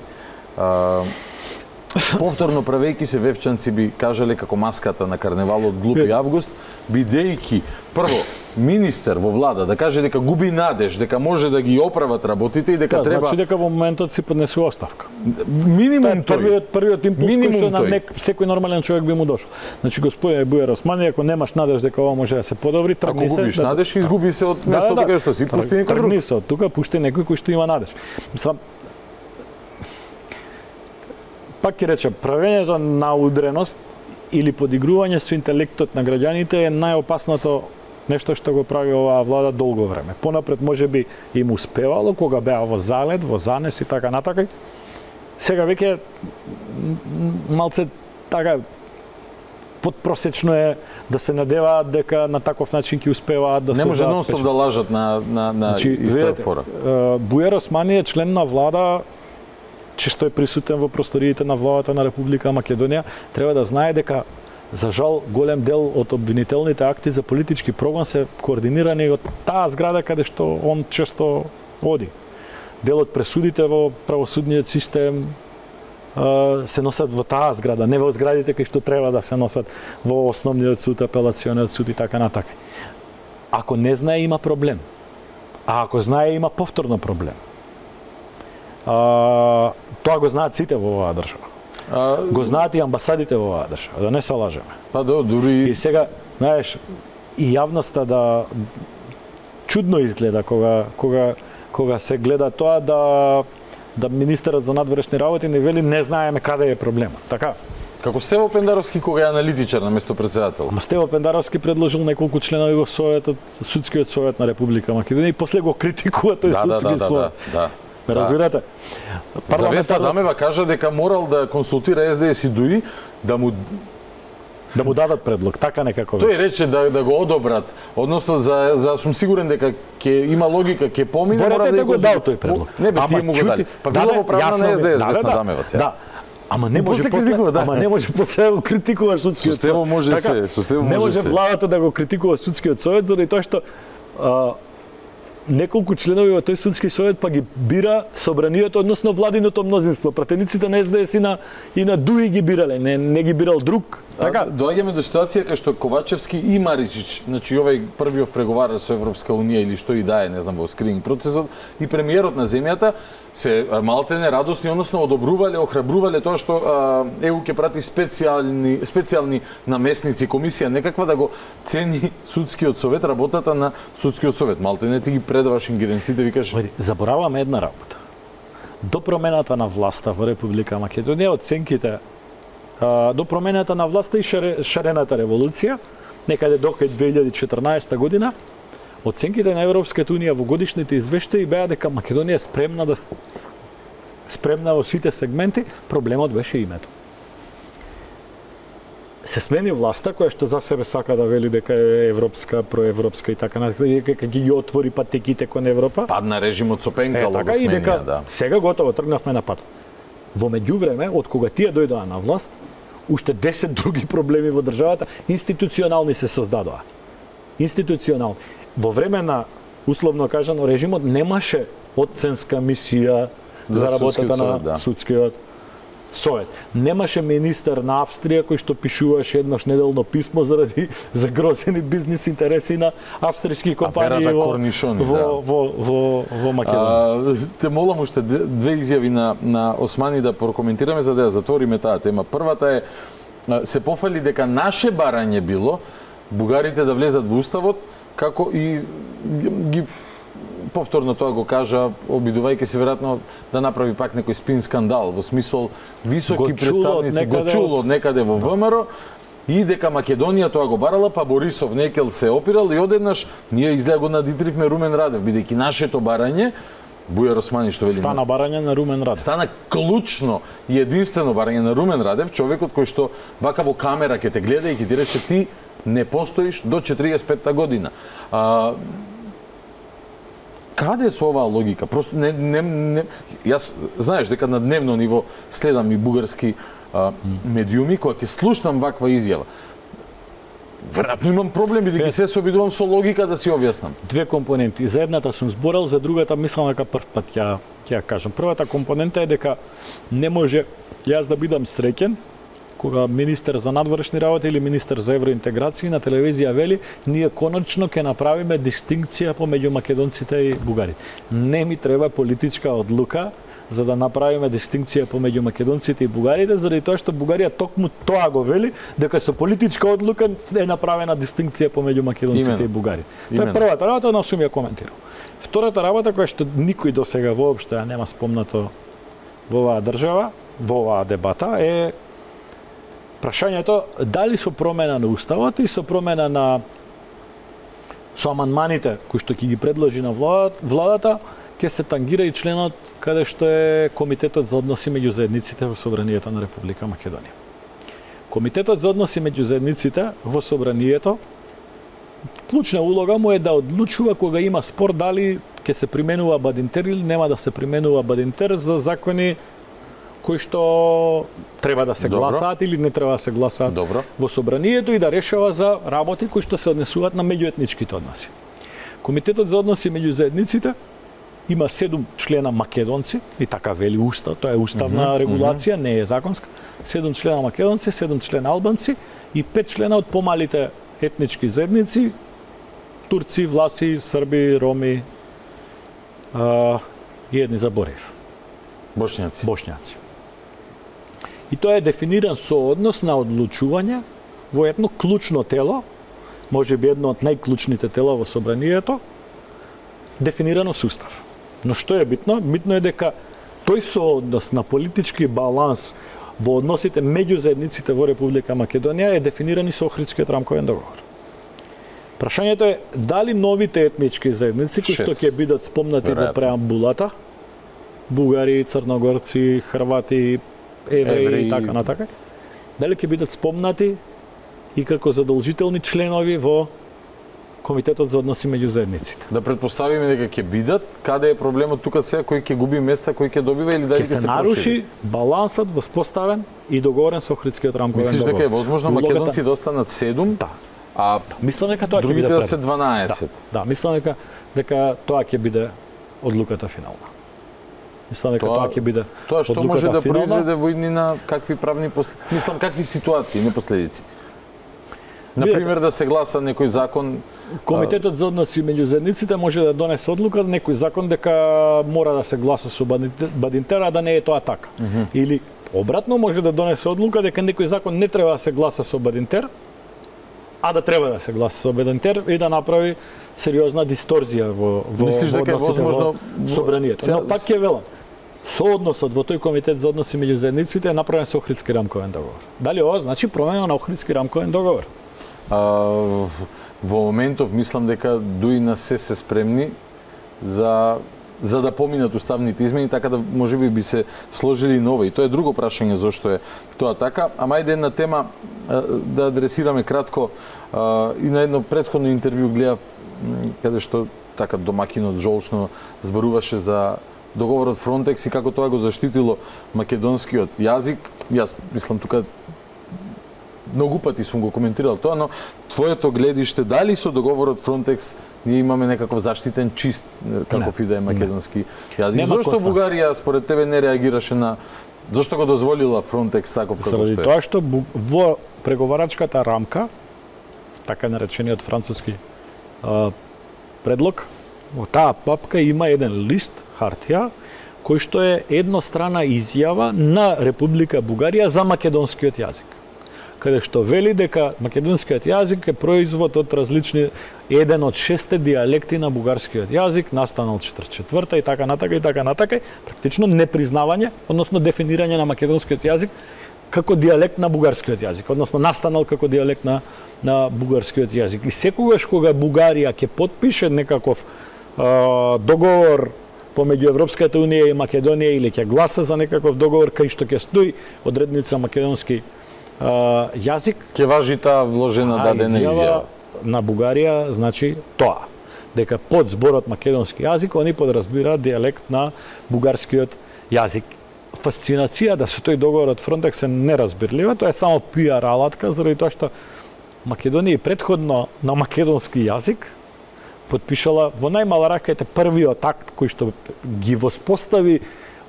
Повторно правејќи се, Вевчанци би кажале како маската на карневалот Глупи август, бидејќи прво министер во влада да каже дека губи надеж, дека може да ги оправат работите и дека треба. Значи дека во моментот си поднесува оставка. Минимум тој. Првиот импулс кој што на секој нормален човек би му дошол. Значи господине Бујар Османи, ако немаш надеж дека ова може да се подобри, тргни се. Ако губиш надеж, изгуби се од местото каде што си, пушти некој друг. Тргни се од тука, пушти некој кој што има надеж. Пак ќе речем, правењето на удреност или подигрување со интелектот на граѓаните е најопасното нешто што го прави оваа влада долго време. Понапред можеби им успевало кога беа во залет, во занес и така натака. Сега веќе малце така подпросечно е да се надеваат дека на таков начин ќе успеваат да се. Не може нонстоп да лажат на иста фора. Бујар Османи е член на влада што е присутен во просториите на владата на Република Македонија, треба да знае дека за жал голем дел од обвинителните акти за политички прогон се координирани од таа зграда каде што он често оди. Дел од пресудите во правосудниот систем се носат во таа зграда, не во зградите кои што треба да се носат во основниот суд, апелациониот суд и така натака. Ако не знае, има проблем. А ако знае, има повторно проблем. Тоа го знаат сите во оваа држава. Го знаат и амбасадите во оваа држава, да не се лажеме. Па дури и сега, знаеш, и јавноста чудно изгледа кога се гледа тоа да министерот за надворешни работи не вели не знаеме каде е проблемот. Така? Како Стево Пендаровски кога е аналитичар на место председател. Ама Стево Пендаровски предложил неколку членови во Советот, судскиот совет на Република Македонија и после го критикува тој судски совет. Ме разбирате? Завеста Дамева кажа дека морал да консултира СДС и ДУИ да му дадат предлог, така некако. Тој рече да го одобрат, односно за сум сигурен дека ќе има логика, ќе помине, мора да го дал тој предлог. Не бе, тие му го дали. Па било во правна на СДС Весна Дамева сега. Да. Ама не може после да го критикуваш судскиот совет. Со Стево може се, со Стево може се. Не може владата да го критикува судскиот совет заради тоа што неколку членови во тој судски совет па ги бира собранието, односно владиното мнозинство. Пратениците на СДС и на ДУИ ги бирале, не ги бирал друг. Така, доаѓаме до ситуација кај што Ковачевски и Маричич, значи овој првиот преговарач со Европска унија или што и да е, не знам, во скрининг процесот, и премиерот на земјата се малтене радосни, односно одобрувале, охрабрувале тоа што ЕУ ќе прати специјални намесници, комисија некаква да го цени судскиот совет, работата на судскиот совет. Малтене ти ги предаваш ингеренците, викаш. Забораваме една работа. До промената на власта во Република Македонија, оценките до промената на власта и шарената револуција, некаде до 2014 година, оценките на Европската унија во годишните извештаи беа дека Македонија е спремна во сите сегменти, проблемот беше името. Се смени власта која што за себе сака да вели дека е европска, проевропска и така натаму, дека ги отвори патеките кон Европа. Падна режимот со Пенкало го сменија, да. Сега готово тргнавме на пат. Во меѓувреме, од кога тие дојдоа на власт, уште 10 други проблеми во државата институционални се создадоа. Институционални. Во време на, условно кажано, режимот немаше оценска мисија за работата на судскиот совет. Немаше министер на Австрија кој што пишуваше еднаш неделно писмо заради загрозени бизнис интереси на австријски компании во Македонија. Те молам уште две изјави на Османи да прокоментираме за да ја затвориме таа тема. Првата е се пофали дека наше барање било бугарите да влезат во уставот, како и ги повторно тоа го кажа, обидувајќи се веројатно да направи пак некој спин скандал, во смисол високи представници го чуло од некаде во ВМРО и дека Македонија тоа го барала, па Борисов некел се опирал и одеднаш ние изгледа го надитривме Румен Радев, бидејќи нашето барање Бујар Османи што вели стана барање на Румен Радев. Стана клучно и единствено барање на Румен Радев, човекот кој што вака во камера ќе те гледа и ќе ти рече ти не постоиш до 45-та година. Каде со оваа логика? Просто јас знаеш дека на дневно ниво следам и бугарски медиуми кога ќе слушнам ваква изјава. Веројатно имам проблем бидејќи се обидувам со логика да си објаснам. Две компоненти. За едната сум зборал, за другата мислам дека прв пат ќе ја кажам. Првата компонента е дека не може јас да бидам среќен кога министер за надворешни работи или министер за евроинтеграција на телевизија вели ние конечно ќе направиме дистинкција помеѓу македонците и бугарите. Не ми треба политичка одлука за да направиме дистинкција помеѓу македонците и бугарите, заради тоа што Бугарија токму тоа го вели, дека со политичка одлука е направена дистинкција помеѓу македонците и бугарите. Тоа е првата работа, но сум ја коментирал. Втората работа која што никој досега воопшто ја нема спомнато во оваа држава, во оваа дебата е прашањето дали со промена на уставот и со промена со амандманите кои што ќе ги предложи на владата ќе се тангира и членот каде што е Комитетот за односи меѓу заедниците во Собранието на Република Македонија. Комитетот за односи меѓу заедниците во Собранието клучна улога му е да одлучува кога има спор дали ќе се применува Бадинтер или нема да се применува Бадинтер за закони кои што треба да се гласаат или не треба да се гласаат во Собранието и да решава за работи кои што се однесуваат на меѓуетничките односи. Комитетот за односи меѓу заедниците има 7 члена македонци и така вели устав, тоа е уставна регулација, не е законска. 7 члена македонци, 7 члена албанци и 5 члена од помалите етнички заедници турци, власи, срби, роми и едни заборев. Бошњаци. И тоа е дефиниран сооднос на одлучување во едно клучно тело, може би едно од најклучните тела во собранието, дефинирано с устав. Но што е битно? Битно е дека тој сооднос на политички баланс во односите меѓу заедниците во Република Македонија е дефиниран и со Охридскиот рамковен договор. Прашањето е дали новите етнички заедници кои што ќе бидат спомнати во преамбулата, бугари, црногорци, хрвати, евреи и така натака, дали ќе бидат спомнати и како задолжителни членови во Комитетот за односи меѓу заедниците. Да претпоставиме дека ќе бидат, каде е проблемот тука сега, кој ќе губи места, кој ќе добива или дали ќе се наруши балансот воспоставен и договорен со Охридскиот рамковен договор. Мислиш дека е возможно македонци да останат 7? Да. А мислам дека тоа ќе биде да се 12. Да, мислам дека тоа ќе биде одлуката финална. Мислам дека тоа ќе биде тоа што може да финална. произведе во иднина какви правни мислам какви ситуации, не последици. Например, да се гласа некој закон. Комитетот за односи меѓу заедниците може да донесе одлука некој закон дека мора да се гласа со Бадинтер, а да не е тоа така. Или обратно може да донесе одлука дека некој закон не треба да се гласа со Бадинтер, а да треба да се гласа со Бадинтер и да направи сериозна дисторзија во Мислиш дека е возможно собранието. Но пак ќе велам, соодносот во тој комитет за односи меѓу заедниците е направен со Охридски рамковен договор. Дали ова значи промена на Охридски рамковен договор? Во моментов мислам дека дуи на се спремни за да поминат уставните измени, така да можеби би се сложили нови. И тоа е друго прашање зошто е тоа така. Ама ајде една тема да адресираме кратко. И на едно претходно интервју гледав каде што така домакинот жолчно зборуваше за договорот Фронтекс и како тоа го заштитило македонскиот јазик. Јас мислам тука многу пати сум го коментирал тоа, но твоето гледиште дали со договорот Фронтекс ние имаме некаков заштитен чист каков и да е македонски јазик? Зошто Бугарија според тебе не реагираше на зошто го дозволила Фронтекс таков како што е? Заради тоа што во преговарачката рамка, така наречениот француски предлог, во таа папка има еден лист хартија кој што е еднострана изјава на Република Бугарија за македонскиот јазик, каде што вели дека македонскиот јазик е производ од различни еден од 6 дијалекти на бугарскиот јазик, настанал 44-та и така натака, практично непризнавање, односно дефинирање на македонскиот јазик како дијалект на бугарскиот јазик, односно настанал како дијалект на бугарскиот јазик. И секогаш кога Бугарија ќе потпише некаков договор помеѓу Европската унија и Македонија или ќе гласа за некаков договор кај што ќе стои одредница македонски јазик, ќе важи таа вложена дадена изјава на Бугарија, значи тоа дека под зборот македонски јазик они подразбираат дијалект на бугарскиот јазик. Фасцинацијата со тој договор од Фронтекс е неразбирлива, тоа е само пиар алатка заради тоа што Македонија претходно на македонски јазик потпишала во најмала рака првиот акт кој што ги воспостави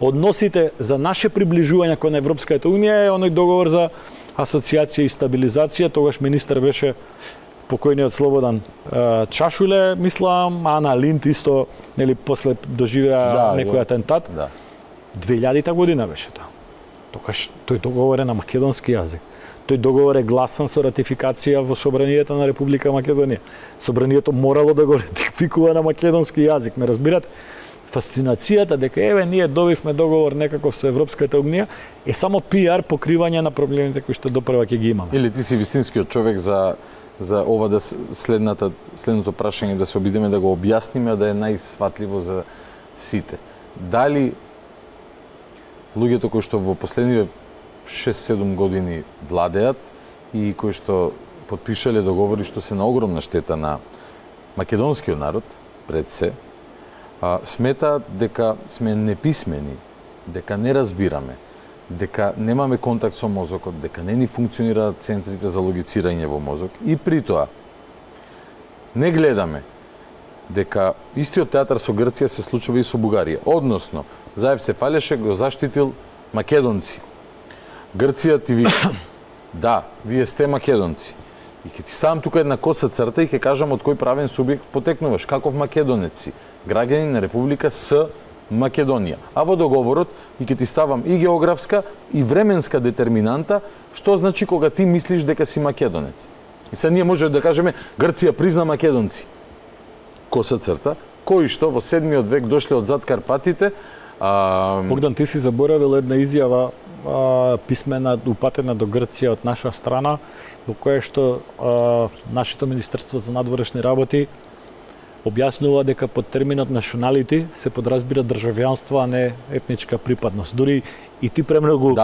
односите за наше приближување кон Европската унија е оној договор за асоциација и стабилизација, тогаш министар беше покојниот Слободан Чашуле, мислам, Ана Линд исто, нели после доживеа некој атентат. 2000 година беше тоа. Тогаш тој договор е на македонски јазик. Тој договор е гласан со ратификација во собранието на Република Македонија. Собранието морало да го ратификува на македонски јазик, ме разбирате? Фасцинацијата дека еве ние добивме договор некаков со Европската унија е само пиар покривање на проблемите кои што допрва ќе ги имаме. Или ти си вистинскиот човек за ова да следното прашање да се обидеме да го објасниме, да е најсватливо за сите. Дали луѓето кои што во последниве 6-7 години владеат и кои што потпишале договори што се на огромна штета на македонскиот народ, пред се, сметаат дека сме неписмени, дека не разбираме, дека немаме контакт со мозокот, дека не ни функционираат центрите за логицирање во мозок и при тоа не гледаме дека истиот театар со Грција се случува и со Бугарија. Односно, Заев се фалеше, го заштитил македонци. Грција ти вика, да, вие сте македонци. И ќе ти ставам тука една коса црта и ќе кажам од кој правен субјект потекнуваш, каков македонец си, граѓанин на Република С Македонија. А во договорот и ќе ти ставам и географска и временска детерминанта, што значи кога ти мислиш дека си македонец. И сега ние можеме да кажеме Грција призна македонци. Коса црта, кои што во 7 век дошле од зад Карпатите. Богдан, ти си заборавил една изјава писмена упатена до Грција од наша страна, во која што нашето Министерство за надворешни работи објаснува дека под терминот националити се подразбира државјанство, а не етничка припадност. Дури и ти премногу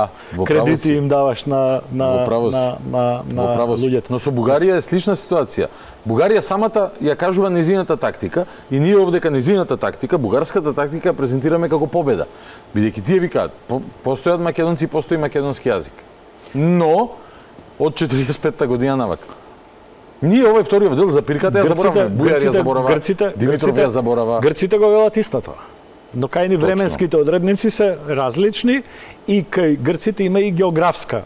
кредити им даваш на луѓето. Но со Бугарија е слична ситуација. Бугарија самата ја кажува незината тактика и ние овдека незината тактика, бугарската тактика презентираме како победа. Бидејќи тие викаат, постојат македонци, постои македонски јазик. Но од 45-та година навака. Ние овој вториот дел за пирката ја забораваме. Бугарија заборава, Димитров ја заборава. Грците го велат истото. Но кај ни временските одредници се различни и кај грците има и географска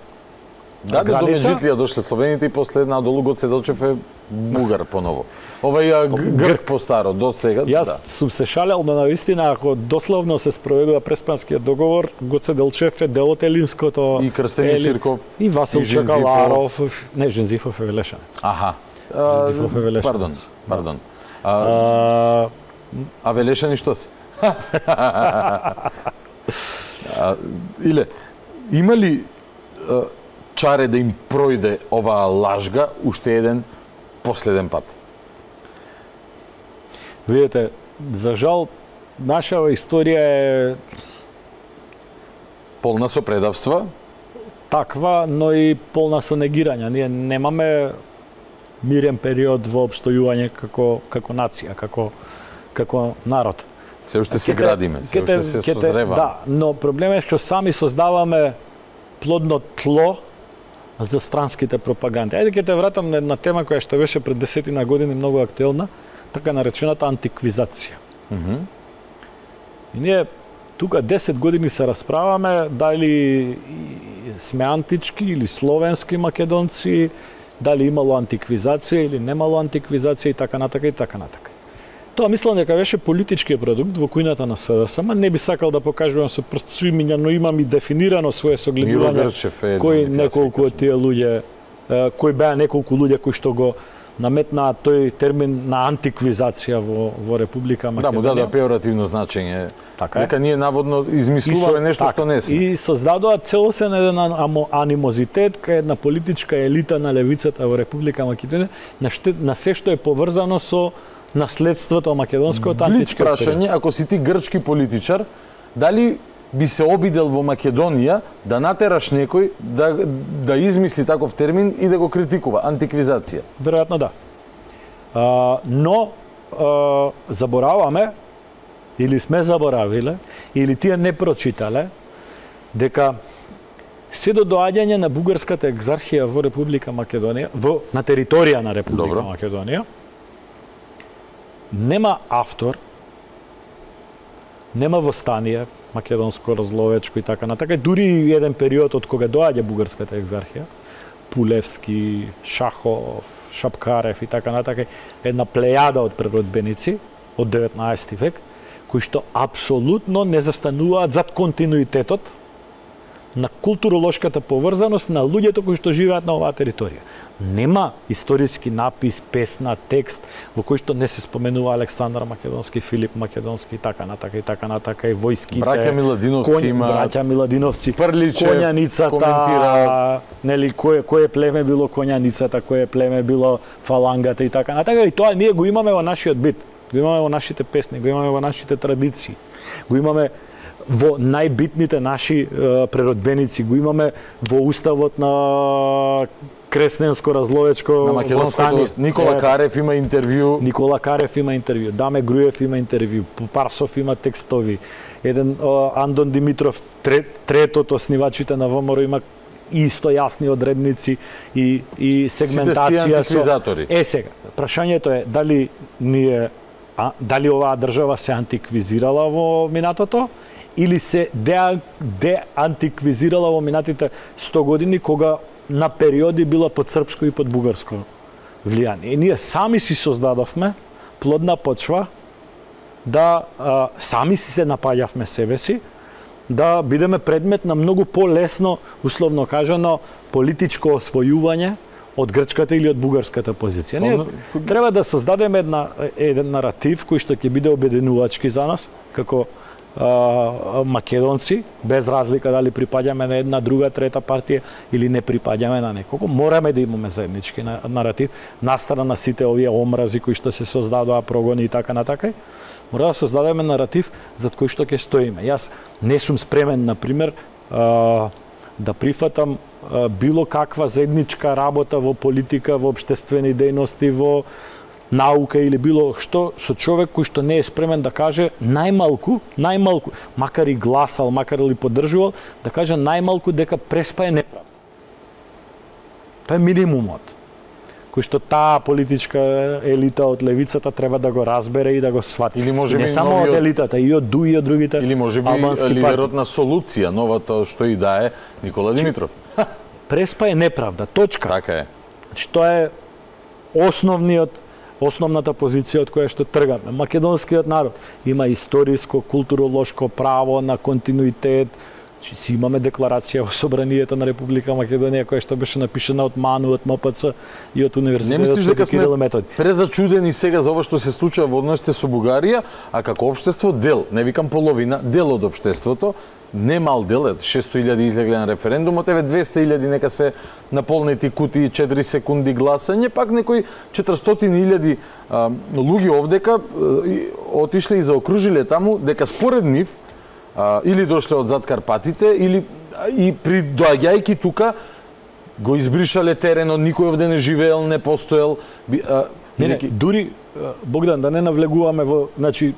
граница. До Межитлија дошле словените и после надолу Гоце Делчев е бугар поново. Овај грк постаро до сега. Јас сум се шалел, но навистина ако дословно се спроведува Преспанскиот договор, Гоце Делчев е дел од елинското. И Крстени Ширков. И Васил Чакаларов. Не, Жензифов е Велешанец. Аха. Жензифов е Велешанец. Пардон. А Велешани што се? Иле, има ли чаре да им пројде оваа лажга уште еден последен пат? Видете, за жал, нашава историја е полна со предавства, таква, но и полна со негирања. Ние немаме мирен период во опстојување како нација, како народ. Се уште се градиме, се уште се созрева. Да, но проблемот е што сами создаваме плодно тло за странските пропаганди. Ајде ќе те вратам на една тема која што беше пред 10 години многу актуелна, така наречената антиквизација. И ние тука 10 години се расправаме дали сме антички или словенски македонци, дали имало антиквизација или немало антиквизација и така натака и така натака. Тоа мислам дека беше политички продукт во кујната на СДСМ, не би сакал да покажувам со прст свимиња, но имам и дефинирано свое согледување кои неколку од тие луѓе, кои беа неколку луѓе кои што го наметнаа тој термин на антиквизација во Република Македонија. Да, му дадоа пеоративно значење. Дека ние наводно измислуваме нешто што не сме. И создадоа целосен еден анимозитет кај една политичка елита на левицата во Република Македонија на се што е поврзано со наследството македонското античко прашање, ако си ти грчки политичар, дали би се обидел во Македонија да натераш некој да измисли таков термин и да го критикува антиквизација? Веројатно да. Но забораваме или сме заборавиле или тие не прочитале дека се до доаѓање на бугарската екзархија во Република Македонија, на територија на Република Македонија, нема автор, нема востание, македонско, разловечко и така натака. Дури еден период од кога доаѓа бугарската екзархија, Пулевски, Шахов, Шапкарев и така натака, една плејада од преродбеници од 19 век, кои што апсолутно не застануваат зад континуитетот на културолошката поврзаност на луѓето кои што живеат на оваа територија. Нема историски напис, песна, текст во кој што не се споменува Александар Македонски, Филип Македонски и така натака и војските. Браќа Миладиновци имаат. Браќа Миладиновци. Прличев Коњаницата, коментира, нели кое племе било Коњаницата, кое племе било Фалангата и така натака, и тоа ние го имаме во нашиот бит. Го имаме во нашите песни, го имаме во нашите традиции. Го имаме во најбитните наши преродбеници, го имаме во уставот на Кресненско-Разловечко восстание. Никола Карев има интервју. Даме Груев има интервју. Парсов има текстови. Еден Андон Димитров, третото оснивачите на ВМРО има исто јасни одредници и сегментација со... сега, прашањето е дали оваа држава се антиквизирала во минатото или се деантиквизирала во минатите 100 години кога на периоди била под српско и под бугарско влијание. И ние сами си создадовме плодна почва да сами си се напаѓавме себе си, да бидеме предмет на многу полесно, условно кажано, политичко освојување од грчката или од бугарската позиција. Ние треба да создадеме еден наратив кој што ќе биде обединувачки за нас, како македонци, без разлика дали припаѓаме на една, друга, трета партија или не припаѓаме на некого, мораме да имаме заеднички наратив, настрана на сите овие омрази кои што се создадоа, прогони и така натака. Мора да создадеме наратив за кој што ќе стоиме. Јас не сум спремен, например, да прифатам било каква заедничка работа во политика, во општествени дејности, во наука или било што со човек кој што не е спремен да каже најмалку, макар и гласал, макар или поддржувал, да каже најмалку дека преспа е неправда. Тоа е минимумот кој што таа политичка елита од левицата треба да го разбере и да го свати. Или може не само од елитата, и од ДУИ, и од другите или може би лидерот на Солуција, новото што и да е Никола Димитров. Преспа е неправда, точка. Така е. Значи тоа е основната позиција од која што тргаме. Македонскиот народ има историско, културолошко право на континуитет. Си имаме декларација во Собранието на Република Македонија која што беше напишана од МАНУ, од МПЦ и од Универзитетот Свети Кирил и Методи. Презачудени сега за ова што се случува во односите со Бугарија, а како општество дел, не викам половина, дел од општеството, не мал дел, 600.000 излегле на референдумот, 200.000 нека се наполнети кутии 4 секунди гласање, пак некои 400.000 луѓе овдека отишле и заокружиле таму дека според нив или дошле од зад Карпатите, или и доаѓајќи тука го избришале теренот, никој овде не живеел, не постоел. Дури Богдан да не навлегуваме во, значи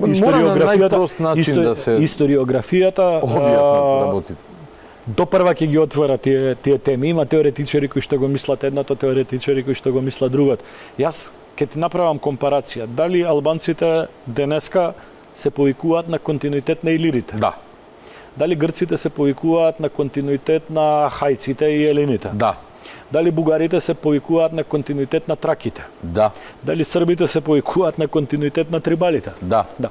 историографијата работите. Допрва ќе ги отвора тие теми. Има теоретичари кои што го мислат едното, теоретичари кои што го мислат другото. Јас ќе ти направам компарација. Дали албанците денеска се повикуваат на континуитет на илирите? Да. Дали грците се повикуваат на континуитет на хајците и елените? Да. Дали бугарите се повикуваат на континуитет на траките? Да. Дали србите се повикуваат на континуитет на трибалите? Да. Да.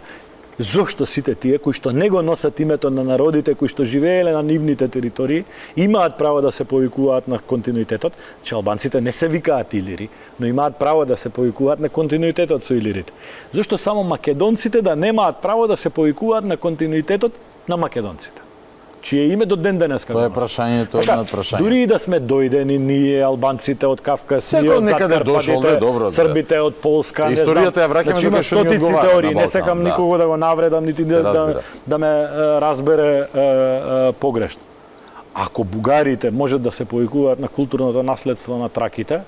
Зошто сите тие кои што не го носат името на народите кои што живееле на нивните територии имаат право да се повикуваат на континуитетот, че албанците не се викаат илири, но имаат право да се повикуваат на континуитетот со илирите? Зошто само македонците да немаат право да се повикуваат на континуитетот на македонците? Чие име до ден денеска тоа е прашањето над прашање. Дури и да сме дојдени ние албанците од Кавказ, ние од Закарпатите, србите од Полска, не знам. Историјата ја враќаме дека што ни одговара. Теории, не сакам никого да го навредам нити да ме разбере погрешно. Ако бугарите можат да се повикуваат на културното наследство на траките,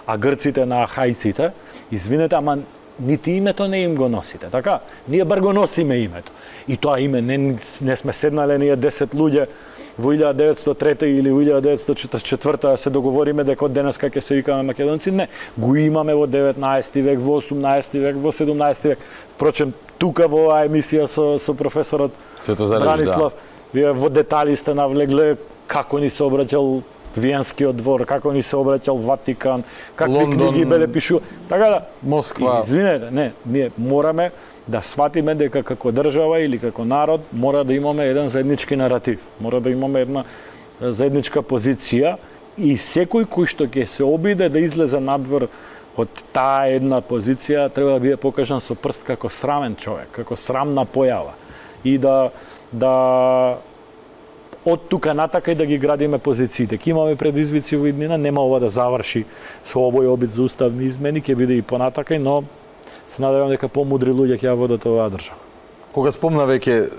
а грците на хајците, извинете, ама нити името не им го носите, така? Ние бар го носиме името. И тоа име не сме седнале ние 10 луѓе во 1903 или во 1944 се договориме дека од денеска ќе се викаме македонци. Не, го имаме во 19 век, во 18 век, во 17 век. Впрочем, тука во оваа емисија со професорот Бранислав, вие во детали сте навлегле како ни се обраќал Виенскиот двор, како ни се обраќал Ватикан, какви Лондон, книги беле пишува. Така да, Москва. Извинете, не, ние мораме да сватиме дека како држава или како народ мора да имаме еден заеднички наратив, мора да имаме една заедничка позиција и секој кој што ќе се обиде да излезе надвор од таа една позиција треба да биде покажан со прст како срамен човек, како срамна појава и да од тука натака и да ги градиме позициите. Ке имаме предизвици во иднина, нема ова да заврши со овој обид за уставни измени, ќе биде и понатака, но се надевам дека помудри луѓе ќе ја водат оваа држава. Кога спомна веќе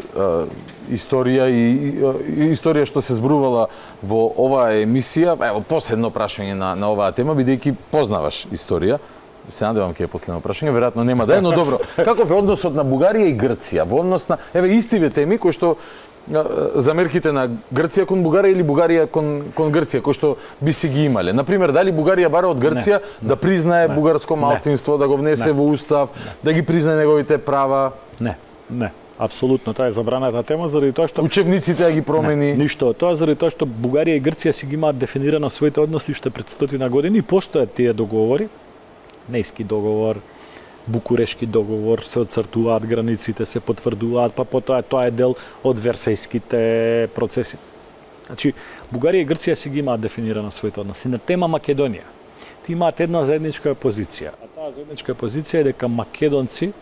историја и историја што се зборувала во оваа емисија, ево последно прашање на оваа тема, бидејќи познаваш историја, се надевам ќе е последно прашање, веројатно нема да е, но добро. Каков е односот на Бугарија и Грција? Во однос на истиве теми кои што замерките на Грција кон Бугарија или Бугарија кон Грција, кои што би си ги имале. Например, дали Бугарија бара од Грција да признае бугарско малцинство, да го внесе во устав, да ги признае неговите права? Не. апсолутно, тоа е забраната тема заради тоа што учебниците ја ги промени. Ништо, тоа заради тоа што Бугарија и Грција си ги имаат дефинирано своите односи уште пред 100 години и постојат тие договори, Нејски договор, Букурешки договор, се отцртуваат границите, се потврдуваат, па потоа тоа е дел од Версајските процеси. Значи, Бугарија и Грција си ги имаат дефинирано своите односи. На тема Македонија, ти имаат една заедничка позиција, а таа заедничка позиција е дека македонци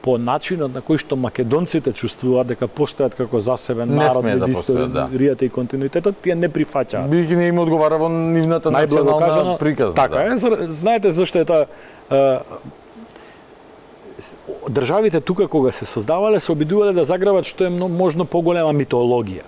по начинот на кој што македонците чувствуваат дека постојат како засебен народ без историјата и континуитетот, тие не прифаќаат. Бијќи не им одговара во нивната национална приказна. Така е, знаете зашто е тоа државите тука кога се создавале се обидувале да заграбат што е можно поголема митологија.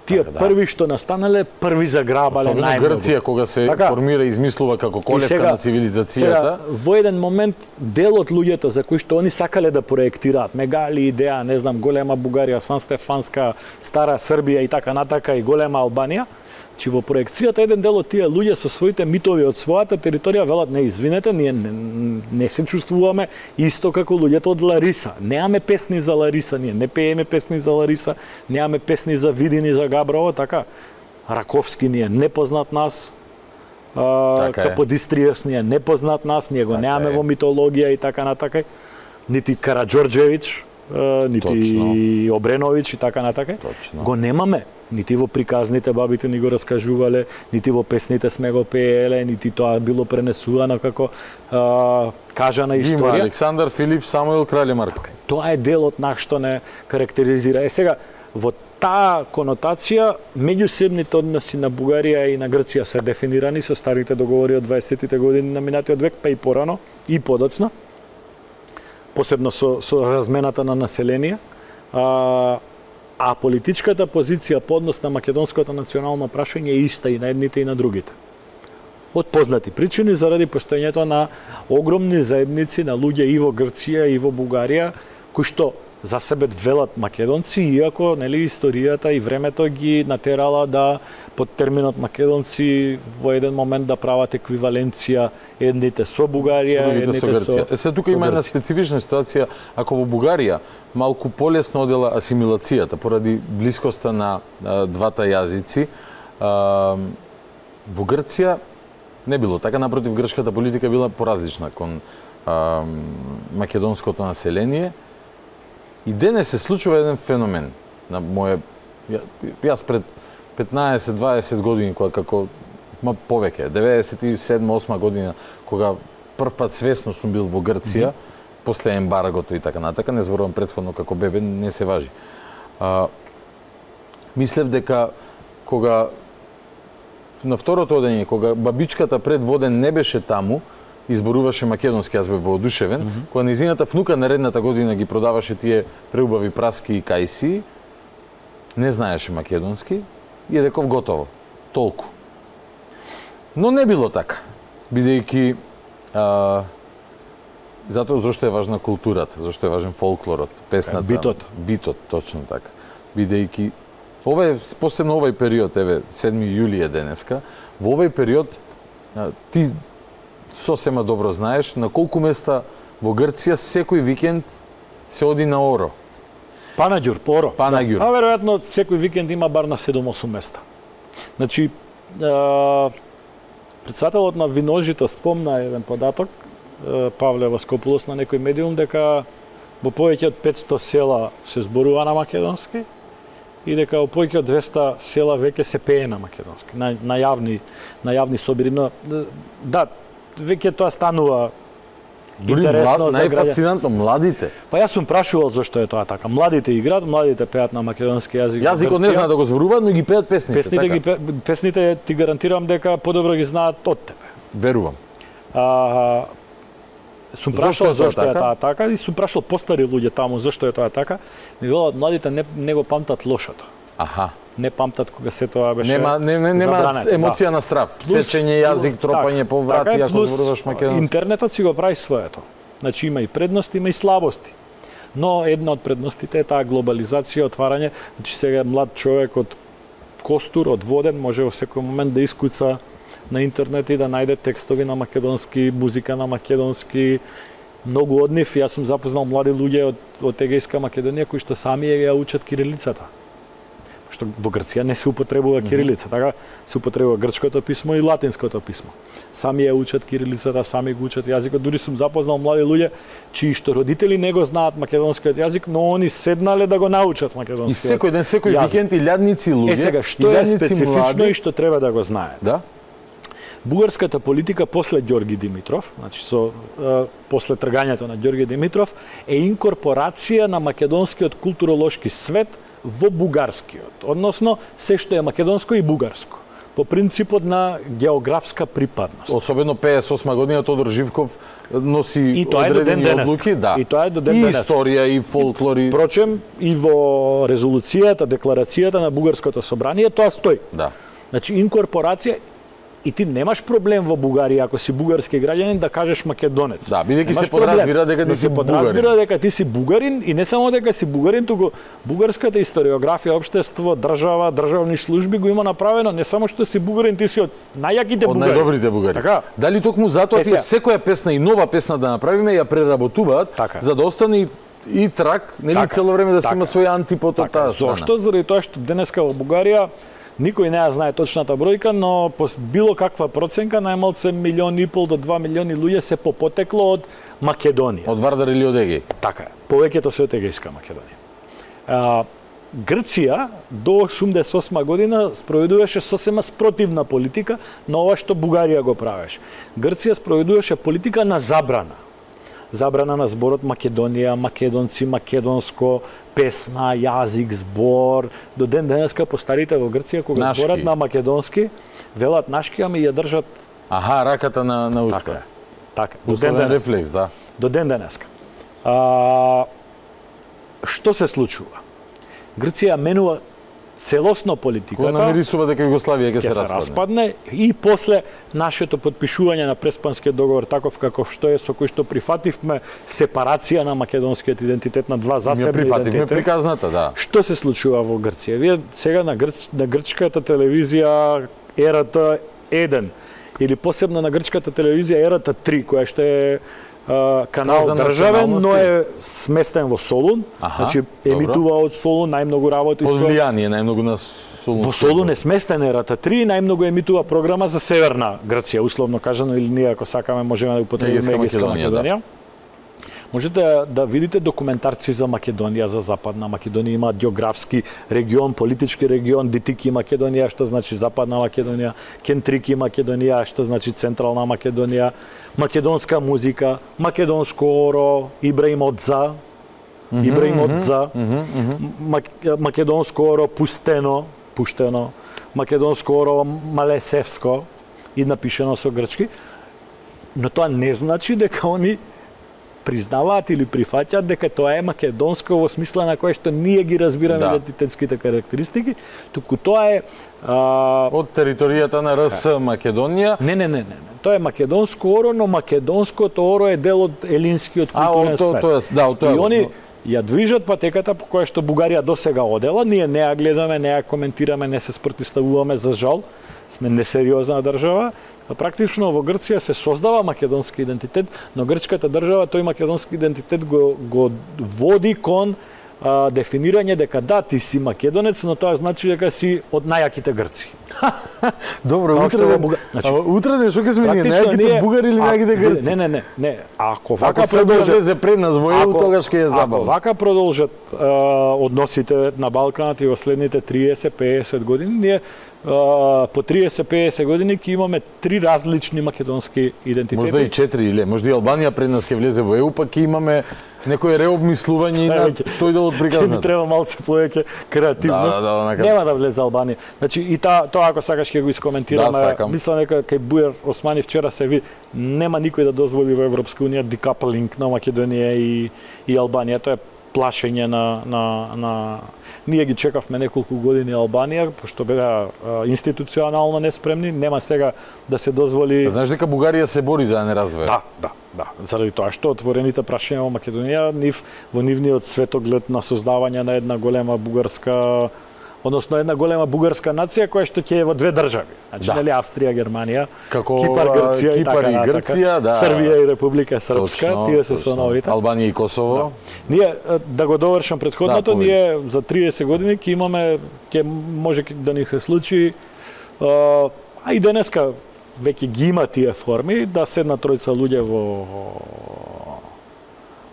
Тие први што настанале, први заграбале најмногу. Грција кога се формира и измислува како колевка на цивилизацијата. Во еден момент дел од луѓето за кои што они сакале да проектираат, мегали идеја, не знам, голема Бугарија, Сан Стефанска, Стара Србија и така натака и голема Албанија, че во проекцијата еден дел од тие луѓе со своите митови од својата територија велат не извинете, ние не се чувствуваме исто како луѓето од Лариса. Немаме песни за Лариса, ние не пееме песни за Лариса, немаме песни за Видин и за Габрово, така. Раковски ни е непознат нас, Каподистријас ни е непознат нас, ние го немаме во митологија и така натака. Нити Караџорџевич, нити Обренович и така натака. Го немаме. Нити во приказните бабите ни го раскажувале, нити во песните сме го пееле, нити тоа било пренесувано како кажана историја. Има Александар, Филип, Самуил, Крале Марко. Тоа е дел од нас што не карактеризира. Сега, во таа конотација, меѓусебните односи на Бугарија и на Грција се дефинирани со старите договори од 20-тите години на минатиот век, па и порано, и подоцна, посебно со размената на население. А политичката позиција по однос на македонското национално прашање е иста и на едните и на другите. Од познати причини заради постоењето на огромни заедници на луѓе и во Грција и во Бугарија, кои што за себе велат македонци, иако нели историјата и времето ги натерала да под терминот македонци во еден момент да прават еквиваленција едните со Бугарија, едните со Грција. Се тука има една специфична ситуација, ако во Бугарија малку полесно одела асимилацијата поради блискоста на двата јазици, во Грција не било така, напротив грчката политика била поразлична кон македонското население. И денес се случува еден феномен на моје јас пред 15-20 години кога како повеќе 97-8 година кога прв пат свесно сум бил во Грција после ембаргото и така натака, не зборувам претходно како бебе, не се важи. Мислев дека кога на второто одење, кога бабичката пред воден не беше таму, изборуваше македонски, јас бев воодушевен, кога нејзината внука наредната година ги продаваше тие преубави праски и кајси, не знаеше македонски и реков готово, толку. Но не било така, бидејќи затоа зашто е важна културата, зашто е важен фолклорот, песната, битот, точно така. Бидејќи посебно овој период, еве 7 јули е денеска, во овој период ти сосема добро знаеш на колку места во Грција секој викенд се оди на Оро. Панаѓур, Оро. Панаѓур. А веројатно секој викенд има бар на 7-8 места. Значи, председателот на Виножито спомна еден податок, Павле Васкопулос на некој медиум, дека во повеќе од 500 села се зборува на македонски и дека во повеќе од 200 села веќе се пее на македонски, на јавни собири. Но да, веќе тоа станува интересно за граѓаните. Најфасцинантно, младите. Па јас сум прашувал зашто е тоа така. Младите играат, младите пеат на македонски јазик. Јазикот не знаат да го зборуваат, но ги пеат песните. Песните ти гарантирам дека подобро ги знаат од тебе. Верувам. Сум прашал зашто е тоа така и сум прашал постари луѓе таму зашто е тоа така. Ми велат младите не го памтат лошото. Аха. Не памтат кога се тоа беше нема емоција на страв, сечење јазик, тропање по врати ако зборуваш македонски. Интернетот си го прави своето. Значи има и предности, има и слабости. Но една од предностите е таа глобализација, отварање. Значи сега млад човек од Костур, од Воден може во секој момент да искуца на интернет и да најде текстови на македонски, музика на македонски многу од нив, јас сум запознал млади луѓе од Егејска Македонија кои што сами ја учат кирилицата. Што во Грција не се употребува кирилица, така се употребува грчкото писмо и латинското писмо. Сами ја учат кирилицата, сами го учат јазикот. Дури сум запознал млади луѓе чии што родители не го знаат македонскиот јазик, но они седнале да го научат македонскиот. И секој викенд илјадници луѓе. Сега што е специфично и што треба да го знаат? Да? Бугарската политика после Ѓорги Димитров, значи после тргањето на Ѓорги Димитров, е инкорпорација на македонскиот културолошки свет во бугарскиот, односно се што е македонско и бугарско, по принципот на географска припадност. Особено 58 година Тодор Живков носи одредени одлуки, да. И тоа е до ден денес. И историја и фолклор и впрочем и во резолуцијата, декларацијата на бугарското собрание тоа стои. Да. Значи инкорпорација. И ти немаш проблем во Бугарија ако си бугарски граѓанин да кажеш македонец. Да, бидејќи се подразбира дека ти си бугарин. Подразбира дека ти си бугарин и не само дека си бугарин, туку бугарската историографија, општество, држава, државни служби го има направено не само што си бугарин, ти си од најаките бугари. Од најдобрите бугари. Така? Дали токму затоа ти секоја песна и нова песна да направиме ја преработуваат така, за да остане и трак, нели така, цело време да се има свој антипод од таа страна. Зошто? Заради тоа што денеска во Бугарија никој не ја знае точната бројка, но по било каква проценка најмалце 1,5 милиони до 2 милиони луѓе се по потекло од Македонија. Од Вардар или од Егеј? Така е. Повеќето се од Егејска Македонија. Грција до 88 година спроведуваше сосема спротивна политика на ова што Бугарија го правеше. Грција спроведуваше политика на забрана. Забрана на зборот Македонија, македонци, македонско, песна, јазик, збор. До ден денеска постарите во Грција кога зборат на македонски, велат нашки, ами ја држат раката на уста. Така. До ден денеска. Рефлекс, да. До ден денеска. Што се случува? Грција менува целосно политиката. Кога намирисува дека Југославија ќе се распадне и после нашето подпишување на Преспанскиот договор таков каков што е, со кој што прифативме сепарација на македонскиот идентитет на два засебни идентитети. Приказната, да. Што се случува во Грција? Вие сега на грчката телевизија РТ 1 или посебно на грчката телевизија РТ 3, која што е канал државен, но е сместен во Солун. Значи емитува од Солун, најмногу работи со влијание, најмногу на Солун. Во Солун е сместен РТ3, најмногу емитува програма за Северна Грција, условно кажано, или ние ако сакаме можеме да употребиме Егејска Македонија. Можете да видите документарци за Македонија, за Западна Македонија, има географски регион, политички регион, Дитики Македонија, што значи Западна Македонија, Кентрики Македонија, што значи Централна Македонија, македонска музика, македонско оро, Ибраим Одза, македонско оро пуштено, македонско оро Малесевско и напишено со грчки, но тоа не значи дека они признаваат или прифаќаат дека тоа е македонско во смисла на кое што ние ги разбираме идентитетските карактеристики, туку тоа е од територијата на РС Македонија. Не. Тоа е македонско оро, но македонското оро е дел од елинскиот културен свет. И они ја движат патеката по која што Бугарија досега одела, ние не ја гледаме, не ја коментираме, не се спротивставуваме, за жал, сме несериозна држава. Практично во Грција се создава македонски идентитет, но грчката држава тој македонски идентитет го води кон дефинирање дека да, ти си македонец, но тоа значи дека си од најаките грци. Добро, утре што ќе сме ние, најаките бугари или најаките грци? Не. Ако влезе пред нас во ЕУ, тогаш ќе е забавно. Ако вака продолжат односите на Балканот и во следните 30-50 години, ние по 30-50 години ќе имаме 3 различни македонски идентитети. Можда и 4 или можда и Албанија пред нас ќе влезе во ЕУ, па ќе имаме некој реобмислување на тој дел од приказната. Ќе треба малце повеќе креативност. Нема да влезе Албанија. Значи и тоа ако сакаш ќе го искоментираме. Мислам дека кај Бујар Османи вчера се види нема никој да дозволи во Европска унија декаплинг на Македонија и Албанија. Тоа е плашење на ние ги чекавме неколку години Албанија, пошто беа институционално неспремни, нема сега да се дозволи. Знаеш дека Бугарија се бори за да не раздвои? Да. Заради тоа што отворените прашања во Македонија, во нивниот светоглед на создавање на една голема бугарска односно една голема бугарска нација која што ќе е во две држави. Значи нели Австрија, Германија, како Кипар, Грција и така и Грција, да. Србија и Република Српска, тие се со новите. Албанија и Косово. Да. Ние да го довршам претходното, ние за 30 години ќе имаме, ќе може да ни се случи, а и денеска веќе ги има тие форми, да седнат тројца луѓе во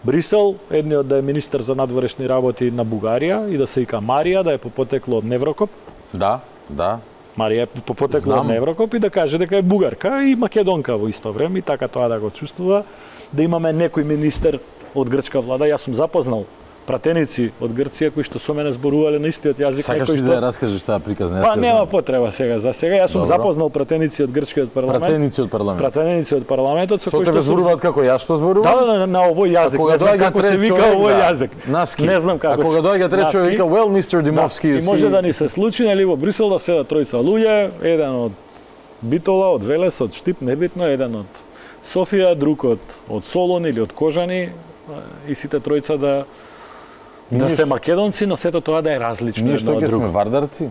Брисел, едниот да е министер за надворешни работи на Бугарија и да се вика Марија, да е по потекло од Неврокоп. Да, да. Марија е по потекло од Неврокоп и да каже дека е бугарка и македонка во исто време и така тоа да го чувствува, да имаме некој министер од грчка влада. Јас сум запознал пратеници од Грција кои што со мене зборувале на истиот јазик. Сакаш ли да ја раскажеш таа приказна? Па нема потреба сега. За сега јас сум запознал пратеници од грчкиот парламент. Пратеници од парламентот со кои што зборуваат како јас што зборувам? Да, на овој јазик. Не знам како се вика овој јазик. Не знам како. А кога доаѓа трет човек вика well Mr. Dimowski. И може да ни се случи нели во Брисел да седат тројца луѓе, еден од Битола, од Велес, од Штип, небитно, еден од Софија, друг од Солун или од Кожани и сите тројца да се македонци, но сето тоа да е различно. Ние што ќе сме вардарци?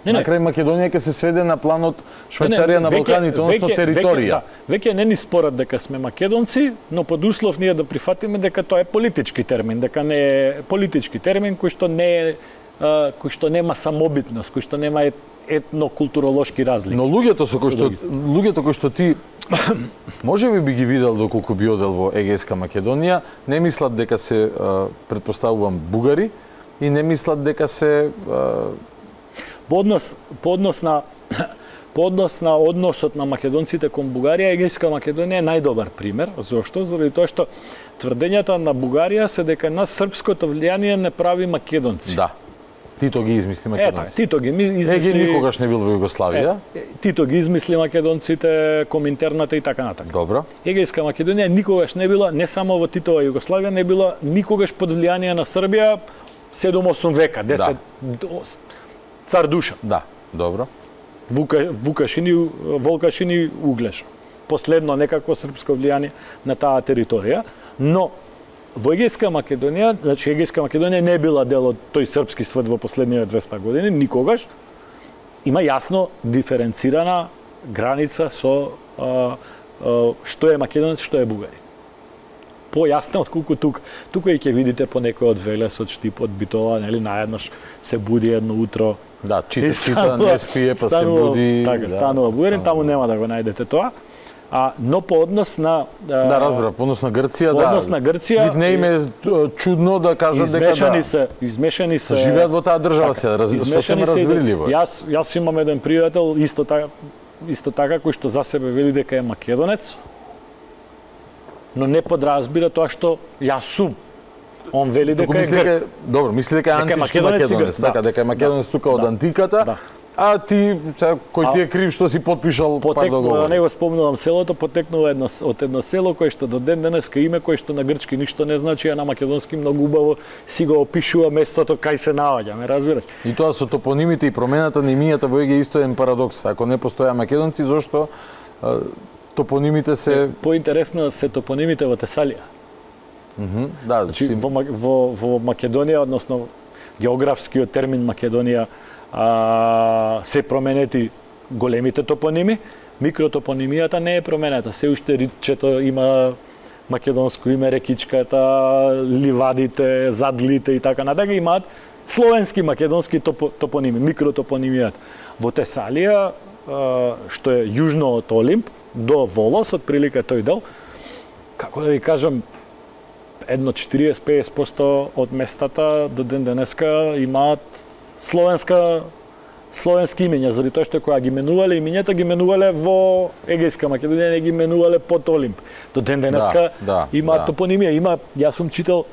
На крај Македонија ќе се сведе на планот Швајцарија на Балканите, односно територија. Веќе не ни спорат дека сме македонци, но под услов ние да прифатиме дека тоа е политички термин, дека не е политички термин кој што нема самобитност, кој што нема етнокултуролошки разлики. Но луѓето кои што ти можеби ги видел доколку би одел во Егејска Македонија, не мислат дека се претпоставувам бугари и не мислат дека се по однос на односот на македонците кон Бугарија, Егејска Македонија е најдобар пример. Зошто? Заради тоа што тврдењата на Бугарија се дека нас српското влијание не прави македонци. Да. Тито ги измисли македонците. Тито ги измисли. Еге никогаш не бил во Југославија. Тито ги измисли македонците, Коминтерната и така натаму. Добро. Егејска Македонија никогаш не била, не само во Титова Југославија, не била никогаш под влијание на Србија 7-8 века, 10 цар Душа. Да, добро. Вукашин и Углеш. Последно некакво српско влијание на таа територија, но во Егејска Македонија, значи Егејска Македонија не била дел од тој српски свет во последниве 200 години, никогаш. Има јасно диференцирана граница со што е македонец, што е бугарин. Појасно отколку тука. Тука и ќе видите по некој од Велес, од Штип, од Битола, нели наеднаш се буди едно утро. Да, чита, не спие, па се буди. Така, станува бугарин, таму нема да го најдете тоа. Но по однос на разбра, по однос на Грција, по однос на Грција, не им е чудно да кажат дека измешани се живеат во таа држава се, сосема разбирливо. Јас имам еден пријател исто така кој што за себе вели дека е македонец, но не подразбира тоа што јас сум. Он вели дека е добро, мисли дека е антички македонец, така дека е македонец тука од антиката. А ти, кој ти е крив што си подпишал пар договор? Не го спомнувам селото, потекнува од едно село кое што до ден денеска име кое што на грчки ништо не значи, а на македонски многу убаво си го опишува местото кај се наоѓа, ме разбираш? И тоа со топонимите и промената на имињата во Еге исто е еден парадокс. Ако не постоја македонци, зошто топонимите се поинтересно се топонимите во Тесалија? Да, значи во Македонија, односно географскиот термин Македонија се променети големите топоними, микротопонимијата не е променета. Се уште ридчето има македонско име, рекичката, ливадите, задлите и така натака имаат словенски македонски топоними, микротопонимијата. Во Тесалија, што е јужно од Олимп, до Волос, од прилика тој дел, како да ви кажам, едно 40-50% од местата до ден денеска имаат словенски имиња, заради тоа што кога ги менувале имињата, ги менувале во Егејска Македонија, не ги менувале под Олимп. До ден денеска имаат топонимија. Јас сум читал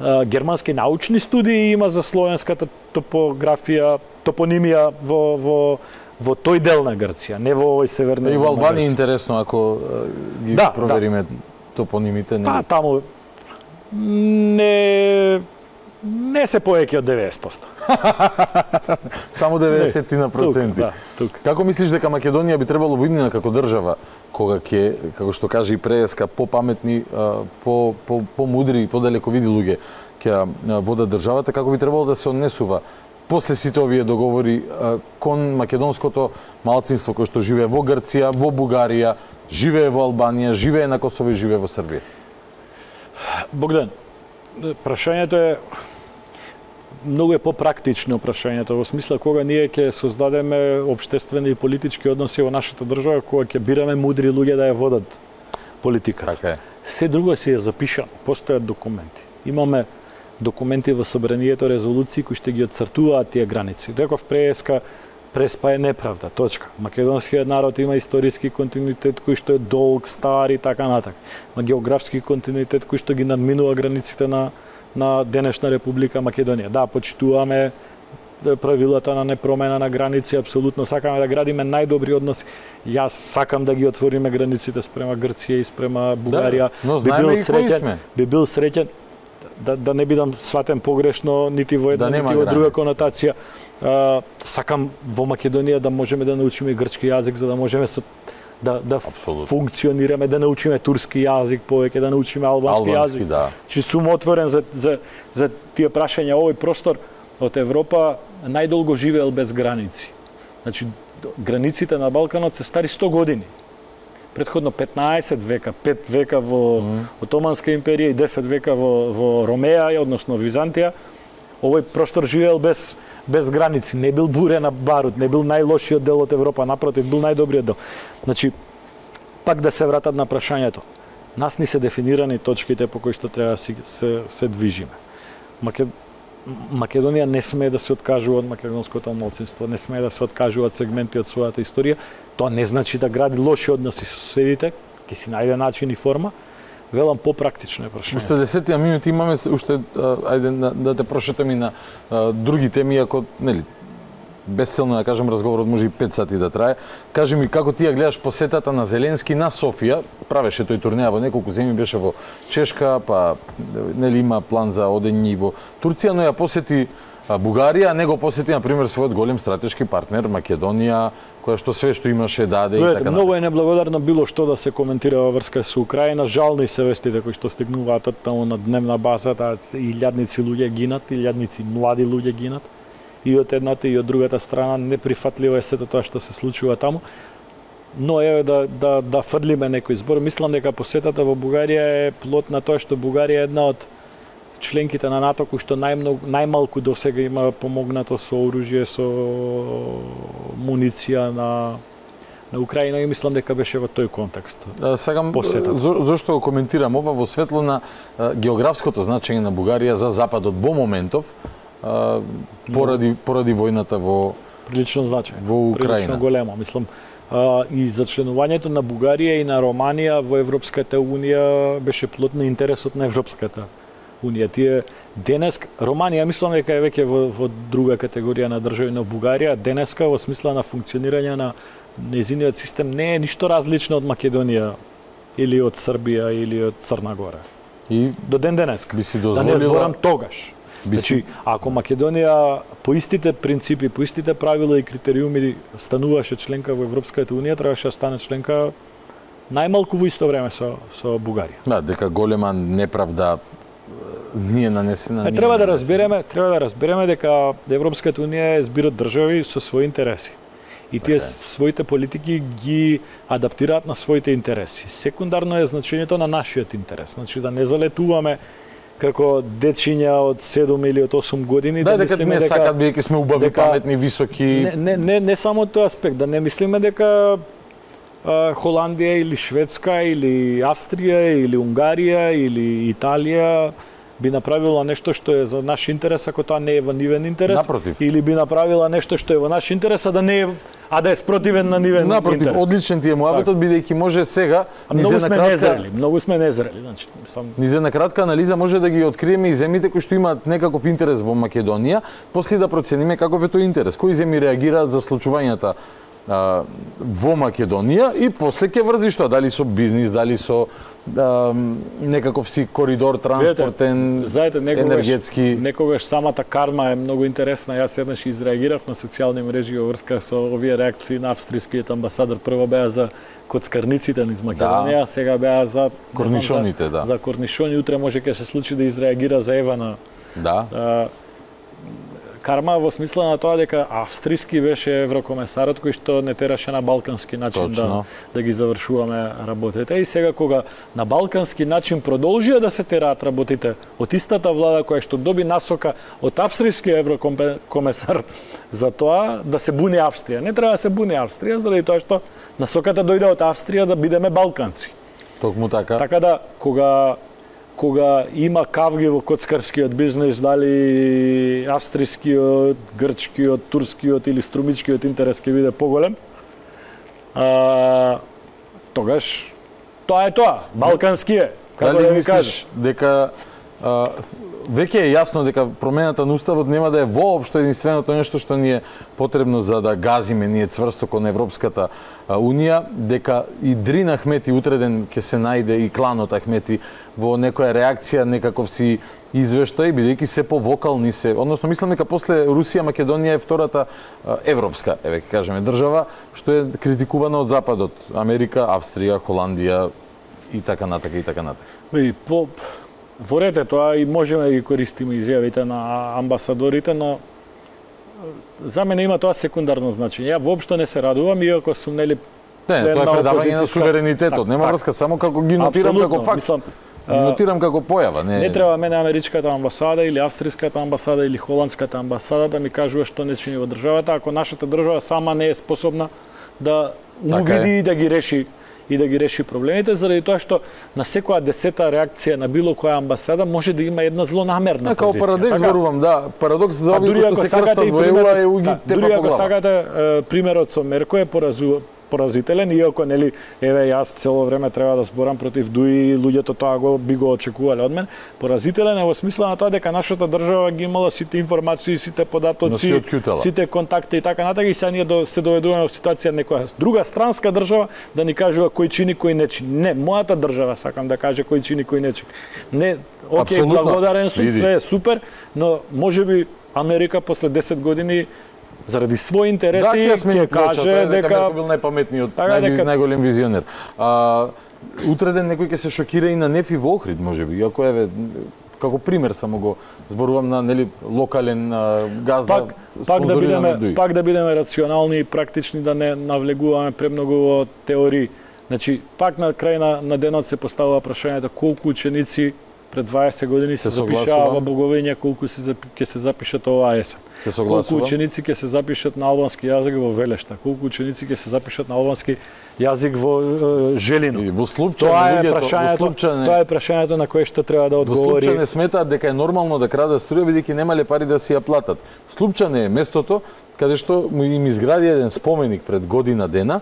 германски научни студии има за словенската топографија, топонимија во тој дел на Грција, не во овој северни. И во Албанија интересно ако ги провериме топонимите. Па таму не се повеќе од 90%. Само 90%. Како мислиш дека Македонија би требало во иднина како држава, кога ќе, како што каже и Преска, попаметни, помудри и подалековиди луѓе ќе водат државата, како би требало да се однесува после сите овие договори кон македонското малцинство кој што живее во Грција, во Бугарија, живее во Албанија, живее на Косово и живее во Србија? Богдан, прашањето е многу попрактично прашањето, во смисла кога ние ќе создадеме општествени и политички односи во нашата држава, кога ќе бираме мудри луѓе да ја водат политика. Така е. Се друго си е запишано, постојат документи. Имаме документи во собранието, резолуции кои што ги отцртуваат тие граници. Реков Преспа е неправда, точка. Македонскиот народ има историски континуитет кој што е долг, стар и така натак. Има географски континуитет кој што ги надминува границите на денешна Република Македонија. Да, почитуваме правилата на непромена на граници, апсолутно сакаме да градиме најдобри односи. Јас сакам да ги отвориме границите спрема Грција и спрема Бугарија. Да, но знаеме и кои сме. Би бил среќен да не бидам сватен погрешно нити во една нити во друга конотација. Сакам во Македонија да можеме да научиме грчки јазик за да можеме да функционираме, да научиме турски јазик повеќе, да научиме албански јазик. Да. Чи сум отворен за тие прашања. Овој простор од Европа најдолго живеел без граници. Значи, границите на Балканот се стари 100 години. Предходно 15 века, 5 века во Отоманска империја и 10 века во Ромеја, односно Византија. Овој простор живеел без граници, не бил бурена барут, не бил најлошиот дел од Европа, напротив, бил најдобриот дел. Значи, пак да се вратат на прашањето. Нас ни се дефинирани точките по кои што треба да се движиме. Македонија не смее да се откажува од македонското малцинство, не смее да се откажува од сегменти од својата историја. Тоа не значи да гради лоши односи со соседите, ќе си најде начин и форма. Велам попрактично е прашање. Уште 10 минути имаме, уште ајде да те прошетам и на други теми, ако нели безцелно да кажем разговорот може и 5 сати да трае. Кажи ми како ти ја гледаш посетата на Зеленски на Софија? Правеше тој турнеја во неколку земји, беше во Чешка, па нели има план за одење во Турција, но ја посети Бугарија, не го посети на пример својот голем стратешки партнер Македонија, која што све што имаше даде и така натаму. Многу е неблагодарно било што да се коментира во врска со Украина. Жални се вестите кои што стигнуваат од таму на дневна база, илјадници луѓе гинат, илјадници млади луѓе гинат. И од едната и од другата страна неприфатливо е сето тоа што се случува таму. Но еве да фрлиме некој збор. Мислам дека посетата во Бугарија е плод на тоа што Бугарија е една од членките на НАТО кои што најмалку досега има помогнато со оружје, со муниција на Украина и мислам дека беше во тој контекст. Сакам зошто го коментирам ова во светло на географското значење на Бугарија за Западот во моментов поради војната во прилично значај во Украина. Прилично големо, мислам. И за членувањето на Бугарија и на Романија во Европската унија беше плод на интересот на Европската унија. Тие денеска Романија мислам дека е веќе во друга категорија на држави, но Бугарија денеска во смисла на функционирање на нејзиниот систем не е ништо различно од Македонија или од Србија или од Црна Гора. И до ден денеска. Би си дозволила... Да не зборам тогаш. Значи, ако Македонија по истите принципи, по истите правила и критериуми стануваше членка во Европската унија, требаше да стане членка најмалку во исто време со Бугарија. Да, дека голема неправда ние нанесена. Треба да разбереме дека Европската унија е збир од држави со своји интереси. И тие своите политики ги адаптираат на своите интереси. Секундарно е значењето на нашиот интерес. Значи да не залетуваме како дечиња од 7 или од 8 години да мислиме дека сакат бидејќи сме убави, паметни, високи. Не само тој аспект, да не мислиме дека Холандија или Шведска или Австрија или Унгарија или Италија би направила нешто што е за наш интерес ако тоа не е во нивен интерес. Напротив. Или би направила нешто што е во наш интерес а да е спротивен на нивен интерес. Напротив, одличен ти е муабетот бидејќи може сега многу сме незрели, значи низе на кратка анализа може да ги откриеме и земјите кои што имаат некаков интерес во Македонија, после да процениме каков е тој интерес, кои земји реагираат за случувањата во Македонија и после ќе врзи што, дали со бизнис, дали со некаков си коридор транспортен, енергетски. Некогаш самата карма е многу интересна. Јас еднаш изреагирав на социјални мрежи во врска со овие реакции на австрискиот амбасадор. Прво беа за коцкарниците низ Македонија, сега беа за корнишоните, да. За корнишони, утре може ќе се случи да изреагира за Евана. Да. карма во смисла на тоа дека австријски беше еврокомесарот кој што не тераше на балкански начин да ги завршуваме работите. И сега кога на балкански начин продолжија да се тераат работите од истата влада која што доби насока од австријски еврокомесар за тоа да се буни Австрија. Не треба да се буни Австрија заради тоа што насоката дојде од Австрија да бидеме балканци. Токму така. Така да кога има кавги во коцкарскиот бизнес, дали австрискиот, грчкиот, турскиот или струмичкиот интерес ќе биде поголем, тогаш тоа е тоа, балкански е. Како да ви кажеш дека веќе е јасно дека промената на уставот нема да е воопшто единственото нешто што ни е потребно за да газиме ние цврсто кон Европската унија, дека и Дрин Ахмети утреден ќе се најде и кланот Ахмети во некоја реакција, некаков си извештај, бидејќи се повокални се, односно мислам дека после Русија Македонија е втората европска, еве ќе кажеме држава што е критикувана од западот, Америка, Австрија, Холандија и така натака и така натака. Во ред е тоа и можеме да ги користиме изјавите на амбасадорите, но за мене има тоа секундарно значење. Ја воопшто не се радувам, иако сум нели член на опозицијска... тоа е предавање на суверенитетот, нема врска, само како ги нотирам како факт. Ги нотирам како појава, не треба мене америчката амбасада или австријската амбасада или холандската амбасада да ми кажува што не чини во државата, ако нашата држава сама не е способна да увиди и да ги реши проблемите, заради тоа што на секоја 10-та реакција на било која амбасада може да има една злонамерна позиција. Како парадокс зборувам, да, парадокс за овие кои што се крстат во ЕУ е уги тепа по глава. Дури ако сакате примерот со Мерко е поразителен, иако нели еве јас цело време треба да зборам против ДУИ, луѓето тоа би го очекувале од мен. Поразителен е во смисла на тоа дека нашата држава ги имала сите информации, сите податоци, сите контакти и така натака, и сега ние се доведуваме во ситуација некоја друга странска држава да ни кажува кој чини, кој не чини. Не, мојата држава сакам да каже кој чини, кој не чини. Не, окей, благодарен сум, све е супер, но можеби Америка после 10 години заради своји интереси ќе каже дека бил најпаметниот, најголем визионер. Утреден некој ќе се шокира и на Нефи во Охрид, можеби, иако еве како пример само го зборувам на нели локален газда. Пак да бидеме рационални и практични, да не навлегуваме премногу во теории. Значи, пак на крај на денот се поставува прашањето колку ученици пред 20 години се запишаа во Боговиња, колку ќе се запишат оваа есен. Колку ученици ќе се запишат на албански јазик во Велешта, колку ученици ќе се запишат на албански јазик во Желино. И во Слупчане, тоа е прашањето на кое што треба да одговори. Во Слупчане сметаат дека е нормално да крадат струја бидејќи немале пари да си ја платат. Слупчане е местото каде што им изгради еден споменик пред година дена,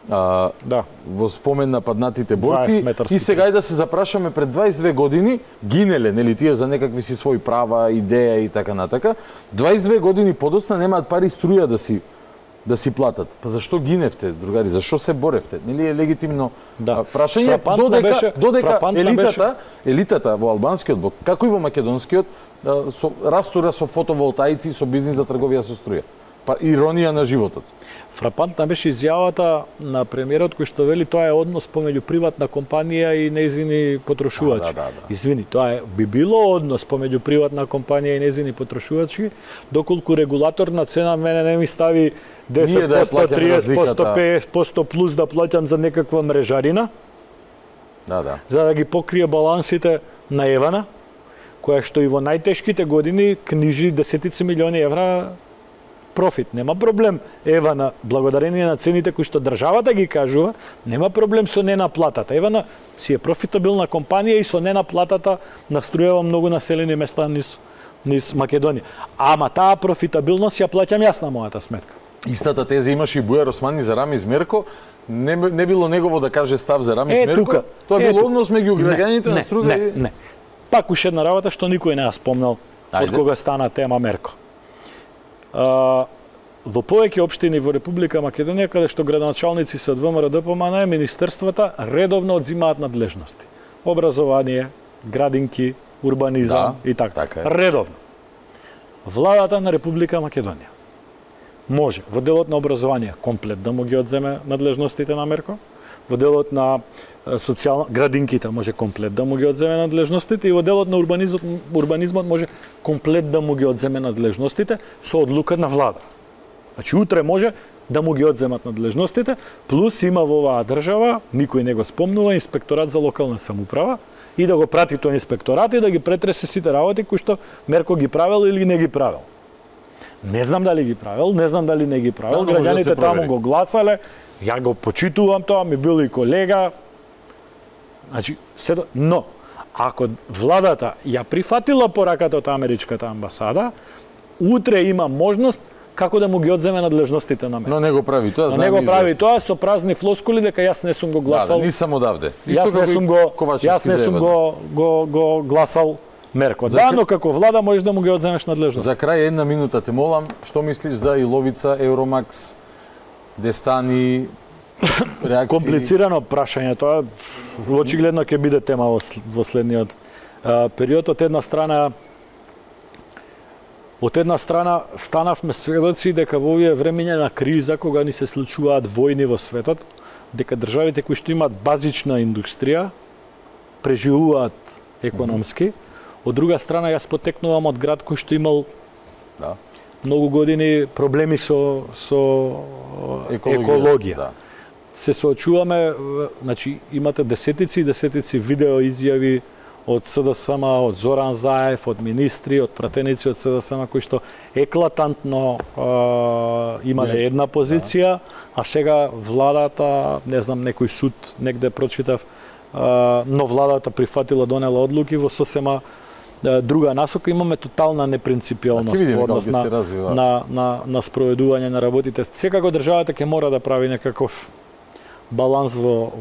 во спомен на паднатите борци, и сега и да се запрашаме пред 22 години гинеле, нели тие за некакви си своји права, идеја и така натака. 22 години подоцна немаат пари струја да си платат. Па зашто гиневте, другари? Зашто се боревте? Нели е легитимно прашање, додека елитата во албанскиот блок, како и во македонскиот, растура со фотоволтаици и со бизнис за трговија со струја. Па иронија на животот. Фрапантна беше изјавата на премиерот кој што вели тоа е однос помеѓу приватна компанија и нејзини потрошувачи. Извини, тоа би било однос помеѓу приватна компанија и нејзини потрошувачи, доколку регулаторна цена мене не ми стави 10%, 30%, 50% плюс да плаќам за некаква мрежарина. За да ги покрие балансите на Евана, која што и во најтешките години книжи десетици милиони евра профит. Нема проблем Евана, благодарение на цените кои што државата ги кажува, нема проблем со ненаплатата. Евана си е профитабилна компанија и со ненаплатата наструјава многу населени места низ Македонија. Ама таа профитабилност ја плаќам јас на мојата сметка. Истата теза имаше и Бујар Османи за Рамиз Мерко. Не било негово да каже став за Рамиз Мерко. Тоа било однос меѓу граѓаните на Струга и... Не. Пак уште една работа што никој не ја спомнал од кога стана тема Мерко. Во повеќе општини во Република Македонија, каде што градоначалници се од ВМРО ДПМН, министерствата редовно одзимаат надлежности. Образование, градинки, урбанизам и така. Редовно. Владата на Република Македонија може во делот на образование комплет да му ги одземе надлежностите на Мерко, во делот на социјална градинките може комплет да му ги одземе надлежностите и во делот на урбанизмот може комплет да му ги одземе надлежностите со одлука на влада. Значи утре може да му ги одземат надлежностите, плюс има во оваа држава, никој не го спомнува, инспекторат за локална самоуправа и да го прати тој инспекторат и да ги претресе сите работи кои што Мерко ги правел или не ги правел. Не знам дали ги правел, не знам дали не ги правел, граѓаните таму го гласале, ја го почитувам тоа, ми бил и колега. Значи, но ако владата ја прифатила пораката од америчката амбасада, утре има можност како да му ги одземе надлежностите на Мерко. Но не го прави тоа, знаеме. Но не го прави тоа со празни флоскули дека јас не сум го гласал. Да, нисам одавде. Јас не сум го гласал Мерко. Да, но како влада можеш да му ги одземеш надлежност. За крај една минута те молам, што мислиш за Иловица, Евромакс, Дестани, реакции? Комплицирано прашање, тоа очигледно ќе биде тема во следниот период. Од една страна станавме сведоци дека во овие времења на криза, кога ни се случуваат војни во светот, дека државите кои што имаат базична индустрија преживуваат економски. Од друга страна, јас потекнувам од град кој што имал многу години проблеми со екологија. Да. Се соочуваме, значи имате десетици и десетици видео изјави од СДСМ, од Зоран Заев, од министри, од пратеници од СДСМ кои што еклатантно имале една позиција, а сега владата, не знам, некој суд негде прочитав, но владата прифатила, донела одлуки во сосема друга насока. Имаме тотална непринципиалност во однос на спроведување на работите. Секако државата ќе мора да прави некаков баланс во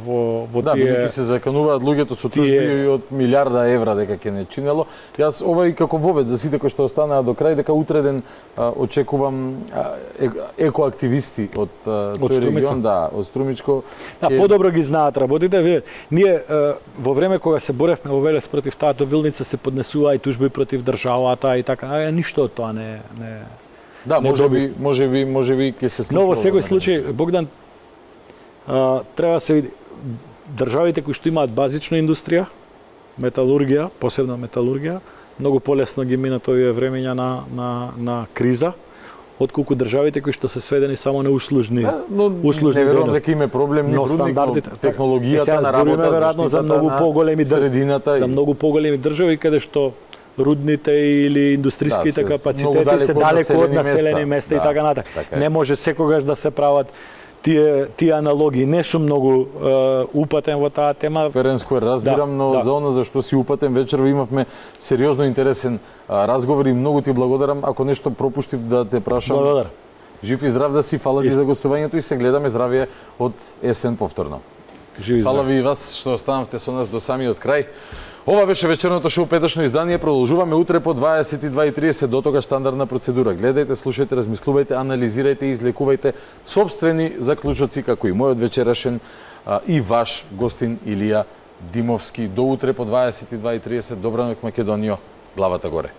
тие... Да, се закануваат луѓето со тужби од милиарда евра дека ќе не чинело. Јас ова и како вовед за сите кои што останаа до крај, дека утреден очекувам екоактивисти од тој регион, од Струмичко. Да, подобро ги знаат работите. Ние во време кога се боревме во Велес против таа добилница се поднесува и тужби против државата и така, ништо од тоа не. Да, можеби ќе се случи. Но во секој случај, Богдан, треба се види државите кои што имаат базична индустрија, металургија, посебно металургија, многу полесно ги минат овие времења на криза, отколку државите кои што се сведени само на услужни дейности. Не верувам дека има проблем ни стандардите, технологијата на работа, веројатно за многу поголеми средината, за многу поголеми држави каде што рудните или индустријските капацитети се далеку од населени места и така натаму. Не може секогаш да се прават тие аналогии. Не сум многу упатен во таа тема. Ференско разбирам, но за она за што си упатен, вечерва имавме сериозно интересен разговор и многу ти благодарам. Ако нешто пропуштив да те прашам. Благодарам. Жив и здрав да си, фала ти за гостувањето и се гледаме здравје од есен повторно. Жив и здрав. Фала ви и вас што останавте со нас до самиот крај. Ова беше вечерното шоу Петочно издание. Продолжуваме утре по 22:30. До тогаш стандардна процедура. Гледајте, слушајте, размислувајте, анализирајте и излекувајте собствени заклучоци како и мојот вечерашен и ваш гостин Илија Димовски. До утре по 22:30. Добра ноќ, Македонијо. Главата горе.